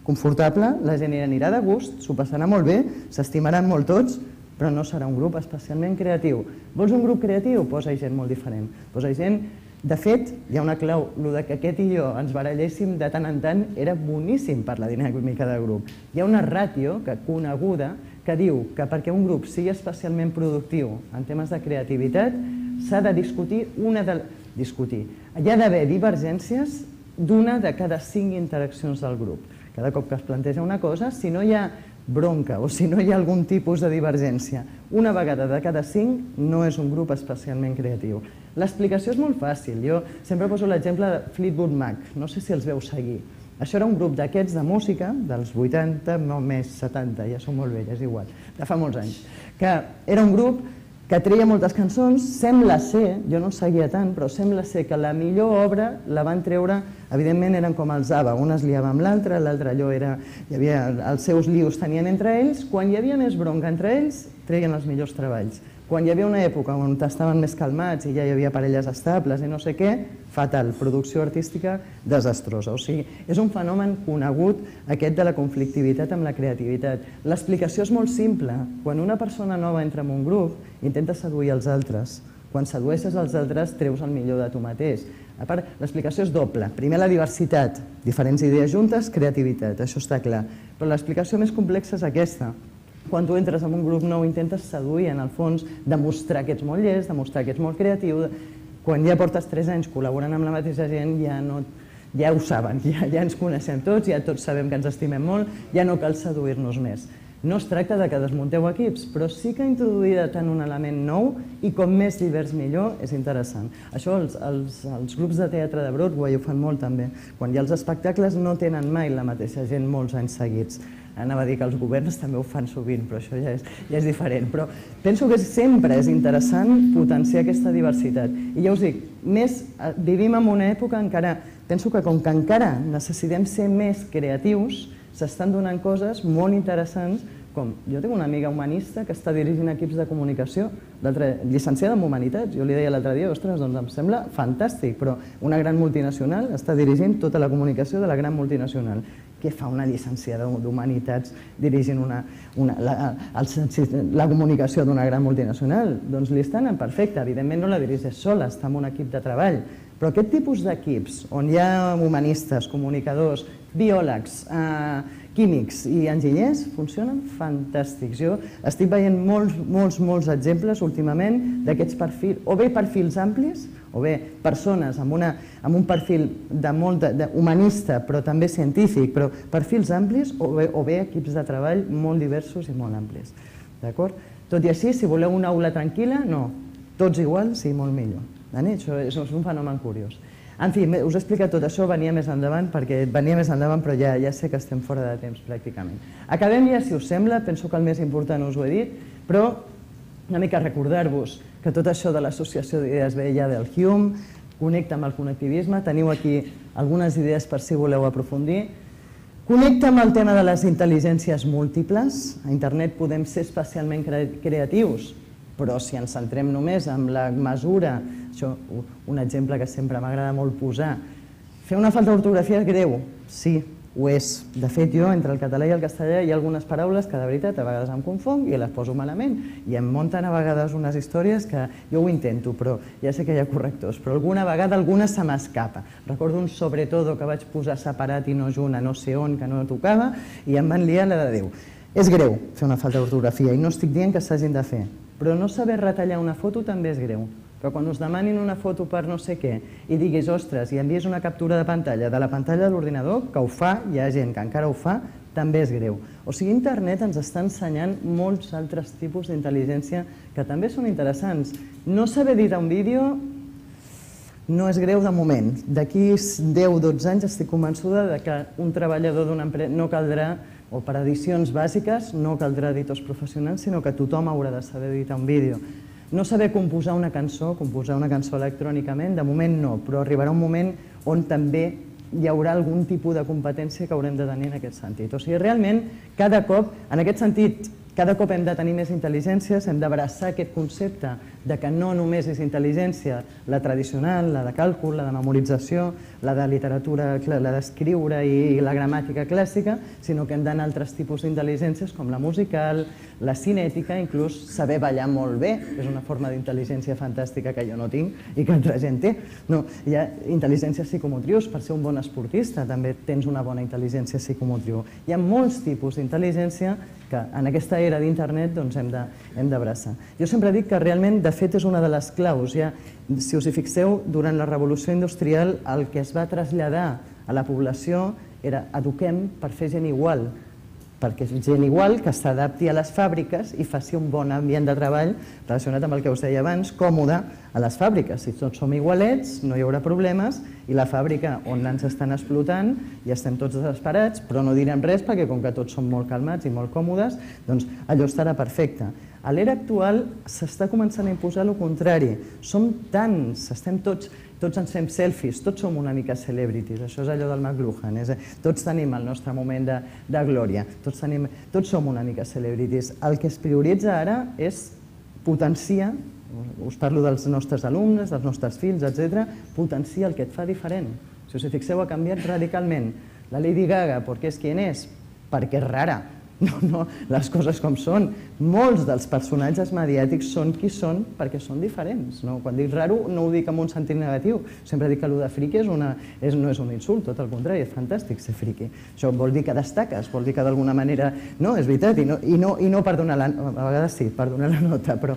confortable, la gent anirà de gust, s'ho passarà molt bé, s'estimaran molt tots, però no serà un grup especialment creatiu. Vols un grup creatiu? Posa-hi gent molt diferent. Posa-hi gent... De fet, hi ha una clau, el que aquest i jo ens baralléssim de tant en tant era boníssim per la dinàmica del grup. Hi ha una ràtio coneguda que diu que perquè un grup sigui especialment productiu en temes de creativitat s'ha de discutir una de... discutir. Hi ha d'haver divergències d'una de cada cinc interaccions del grup. Cada cop que es planteja una cosa, si no hi ha bronca o si no hi ha algun tipus de divergència, una vegada de cada cinc no és un grup especialment creatiu. L'explicació és molt fàcil. Jo sempre poso l'exemple de Fleetwood Mac, no sé si els veu seguir. Això era un grup d'aquests de música, dels vuitanta, no més setanta, ja són molt velles, igual, de fa molts anys, que era un grup que treia moltes cançons, sembla ser, jo no seguia tant, però sembla ser que la millor obra la van treure, evidentment eren com els ABBA, un es liava amb l'altre, l'altre allò era, hi havia, els seus lius tenien entre ells, quan hi havia més bronca entre ells, treien els millors treballs. Quan hi havia una època on estaven més calmats i ja hi havia parelles estables i no sé què, fatal, producció artística desastrosa. O sigui, és un fenomen conegut aquest de la conflictivitat amb la creativitat. L'explicació és molt simple. Quan una persona nova entra en un grup, intenta seduir els altres. Quan sedueixes els altres, treus el millor de tu mateix. A part, l'explicació és doble. Primer, la diversitat. Diferents idees juntes, creativitat, això està clar. Però l'explicació més complexa és aquesta. Quan tu entres en un grup nou intentes seduir, en el fons, demostrar que ets molt llest, demostrar que ets molt creatiu. Quan ja portes tres anys col·laborant amb la mateixa gent, ja no... ja ho saben, ja, ja ens coneixem tots, ja tots sabem que ens estimem molt, ja no cal seduir-nos més. No es tracta de que desmunteu equips, però sí que introduir tant un element nou i com més divers millor és interessant. Això els, els, els grups de teatre de Broadway ho fan molt també. Quan hi ha els espectacles no tenen mai la mateixa gent molts anys seguits. Anava a dir que els governs també ho fan sovint, però això ja és, ja és diferent. Però penso que sempre és interessant potenciar aquesta diversitat. I ja us dic, més, vivim en una època encara, penso que com que encara necessitem ser més creatius, s'estan donant coses molt interessants, com jo tinc una amiga humanista que està dirigint equips de comunicació, llicenciada en Humanitats. Jo li deia l'altre dia, ostres, doncs em sembla fantàstic, però una gran multinacional està dirigint tota la comunicació de la gran multinacional. Què fa una llicenciada d'Humanitats dirigint una, una, la, el, la comunicació d'una gran multinacional? Doncs li està anant perfecte. Evidentment no la dirigeix sola, està en un equip de treball. Però aquest tipus d'equips, on hi ha humanistes, comunicadors, biòlegs, eh, químics i enginyers, funcionen fantàstics. Jo estic veient molts, molts, molts exemples últimament d'aquests perfils, o bé perfils amplis, o bé persones amb, una, amb un perfil de molt de, de humanista, però també científic, però perfils amplis, o bé, o bé equips de treball molt diversos i molt amplis. D'acord? Tot i així, si voleu una aula tranquil·la, no. Tots igual, sí, molt millor. Això és un fenomen curiós. En fi, us he explicat tot això, venia més endavant, perquè venia més endavant, però ja, ja sé que estem fora de temps, pràcticament. Acabem ja, si us sembla, penso que el més important us ho he dit, però una mica recordar-vos que tot això de l'associació d'idees ve ja del Hume, connecta amb el connectivisme, teniu aquí algunes idees per si voleu aprofundir. Connecta amb el tema de les intel·ligències múltiples. A internet podem ser especialment creatius, però si ens centrem només en la mesura, això, un exemple que sempre m'agrada molt posar, fer una falta d'ortografia és greu, sí, ho és. De fet, jo, entre el català i el castellà hi ha algunes paraules que de veritat a vegades em confong i les poso malament i em munten a vegades unes històries que jo ho intento, però ja sé que hi ha correctors, però alguna vegada alguna se m'escapa. Recordo un sobretodo que vaig posar separat i no junt a no sé on, que no tocava, i em van liar la de Déu. És greu fer una falta d'ortografia i no estic dient que s'hagin de fer, però no saber retallar una foto també és greu. Però quan us demanin una foto per no sé què i diguis, ostres, i envies una captura de pantalla de la pantalla de l'ordinador, que ho fa, hi ha gent que encara ho fa, també és greu. O sigui, internet ens està ensenyant molts altres tipus d'intel·ligència que també són interessants. No saber editar un vídeo no és greu de moment. D'aquí deu o dotze anys estic convençuda que un treballador d'una empresa no caldrà, o per edicions bàsiques, no caldrà editors professionals, sinó que tothom haurà de saber editar un vídeo. No saber composar una cançó, composar una cançó electrònicament, de moment no, però arribarà un moment on també hi haurà algun tipus de competència que haurem de tenir en aquest sentit. O sigui, realment, cada cop, en aquest sentit, cada cop hem de tenir més intel·ligències, hem d'abraçar aquest concepte de que no només és intel·ligència la tradicional, la de càlcul, la de memorització, la de literatura, la d'escriure i la gramàtica clàssica, sinó que hem d'anar a altres tipus d'intel·ligències com la musical, la cinètica, inclús saber ballar molt bé, és una forma d'intel·ligència fantàstica que jo no tinc i que altra gent té. Hi ha intel·ligències psicomotrius, per ser un bon esportista també tens una bona intel·ligència psicomotriu. Hi ha molts tipus d'intel·ligència que en aquesta era d'internet hem d'abraçar. Jo sempre dic que realment, de fet, és una de les claus. Si us hi fixeu, durant la revolució industrial el que es va traslladar a la població era eduquem per fer gent igual, perquè és gent igual que s'adapti a les fàbriques i faci un bon ambient de treball relacionat amb el que us deia abans, còmode a les fàbriques. Si tots som igualets, no hi haurà problemes i la fàbrica on ens estan explotant i estem tots desesperats, però no direm res perquè com que tots som molt calmats i molt còmodes, doncs allò estarà perfecte. A l'era actual s'està començant a imposar el contrari. Som tants, estem tots... Tots ens fem selfies, tots som una mica celebrities, això és allò del McLuhan, tots tenim el nostre moment de glòria, tots som una mica celebrities. El que es prioritza ara és potenciar, us parlo dels nostres alumnes, dels nostres fills, etcètera, potenciar el que et fa diferent. Si us hi fixeu, ha canviat radicalment. La Lady Gaga, ¿por qué es quien es? Perquè és rara. No, no, les coses com són. Molts dels personatges mediàtics són qui són perquè són diferents. Quan dic raro no ho dic en un sentit negatiu. Sempre dic que allò de friqui no és un insult, tot el contrari, és fantàstic ser friqui. Això vol dir que destaques, vol dir que d'alguna manera... No, és veritat, i no per donar la... A vegades sí, per donar la nota, però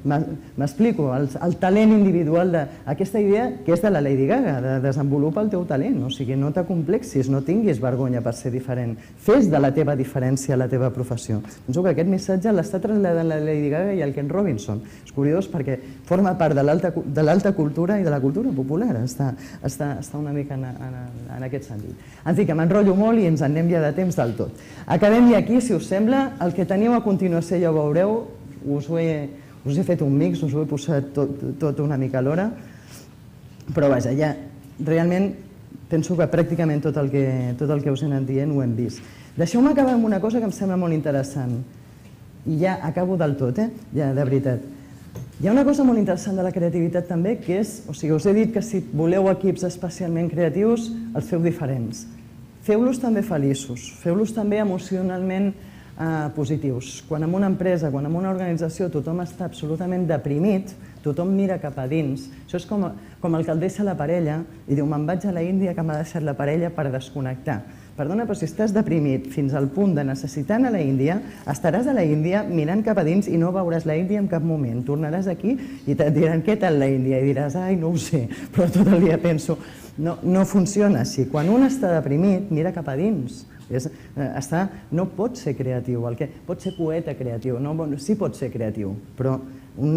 m'explico, el talent individual d'aquesta idea que és de la Lady Gaga, de desenvolupar el teu talent, o sigui, no t'acomplexis, no tinguis vergonya per ser diferent, fes de la teva diferència a la teva professió. Penso que aquest missatge l'està traslladant la Lady Gaga i el Ken Robinson. És curiós perquè forma part de l'alta cultura i de la cultura popular. Està una mica en aquest sentit. En fi, que m'enrotllo molt i ens en anem ja de temps del tot. Acabem ja aquí, si us sembla. El que teniu a continuació ja ho veureu. Us he fet un mix, us ho he posat tot una mica a l'hora. Però vaja, ja realment penso que pràcticament tot el que us he anat dient ho hem vist. Deixeu-me acabar amb una cosa que em sembla molt interessant. I ja acabo del tot, eh? Ja, de veritat. Hi ha una cosa molt interessant de la creativitat també, que és, o sigui, us he dit que si voleu equips especialment creatius, els feu diferents. Feu-los també feliços, feu-los també emocionalment positius. Quan en una empresa, quan en una organització tothom està absolutament deprimit, tothom mira cap a dins. Això és com el que el deixa la parella i diu, me'n vaig a la Índia que m'ha deixat la parella per desconnectar. Perdona, però si estàs deprimit fins al punt de necessitar anar a la Índia, estaràs a la Índia mirant cap a dins i no veuràs la Índia en cap moment. Tornaràs aquí i et diran, què tal la Índia? I diràs, ai, no ho sé, però tot el dia penso... No funciona així. Quan un està deprimit, mira cap a dins. No pot ser creatiu, pot ser poeta creatiu, sí pot ser creatiu, però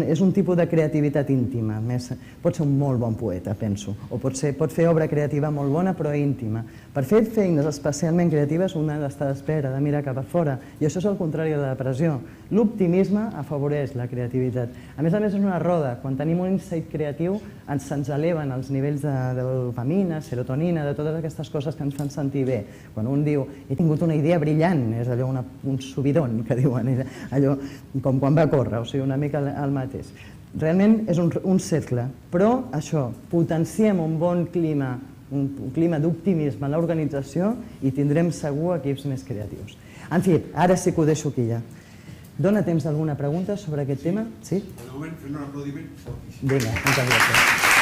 és un tipus de creativitat íntima, pot ser un molt bon poeta, penso, o pot fer obra creativa molt bona però íntima. Per fer feines especialment creatives un ha d'estar d'espera, de mirar cap a fora, i això és el contrari de la depressió. L'optimisme afavoreix la creativitat. A més a més és una roda, quan tenim un insight creatiu se'ns eleven els nivells de dopamina, serotonina, de totes aquestes coses que ens fan sentir bé. Quan un diu, he tingut una idea brillant, és allò un subidon que diuen, allò com quan va córrer, o sigui, una mica el mateix. Realment és un cercle, però això, potenciem un bon clima, un clima d'optimisme a l'organització i tindrem segur equips més creatius. En fi, ara sí que ho deixo aquí ja. Dóna temps d'alguna pregunta sobre aquest tema? Sí? De moment, fent un aplaudiment. Vinga, moltes gràcies.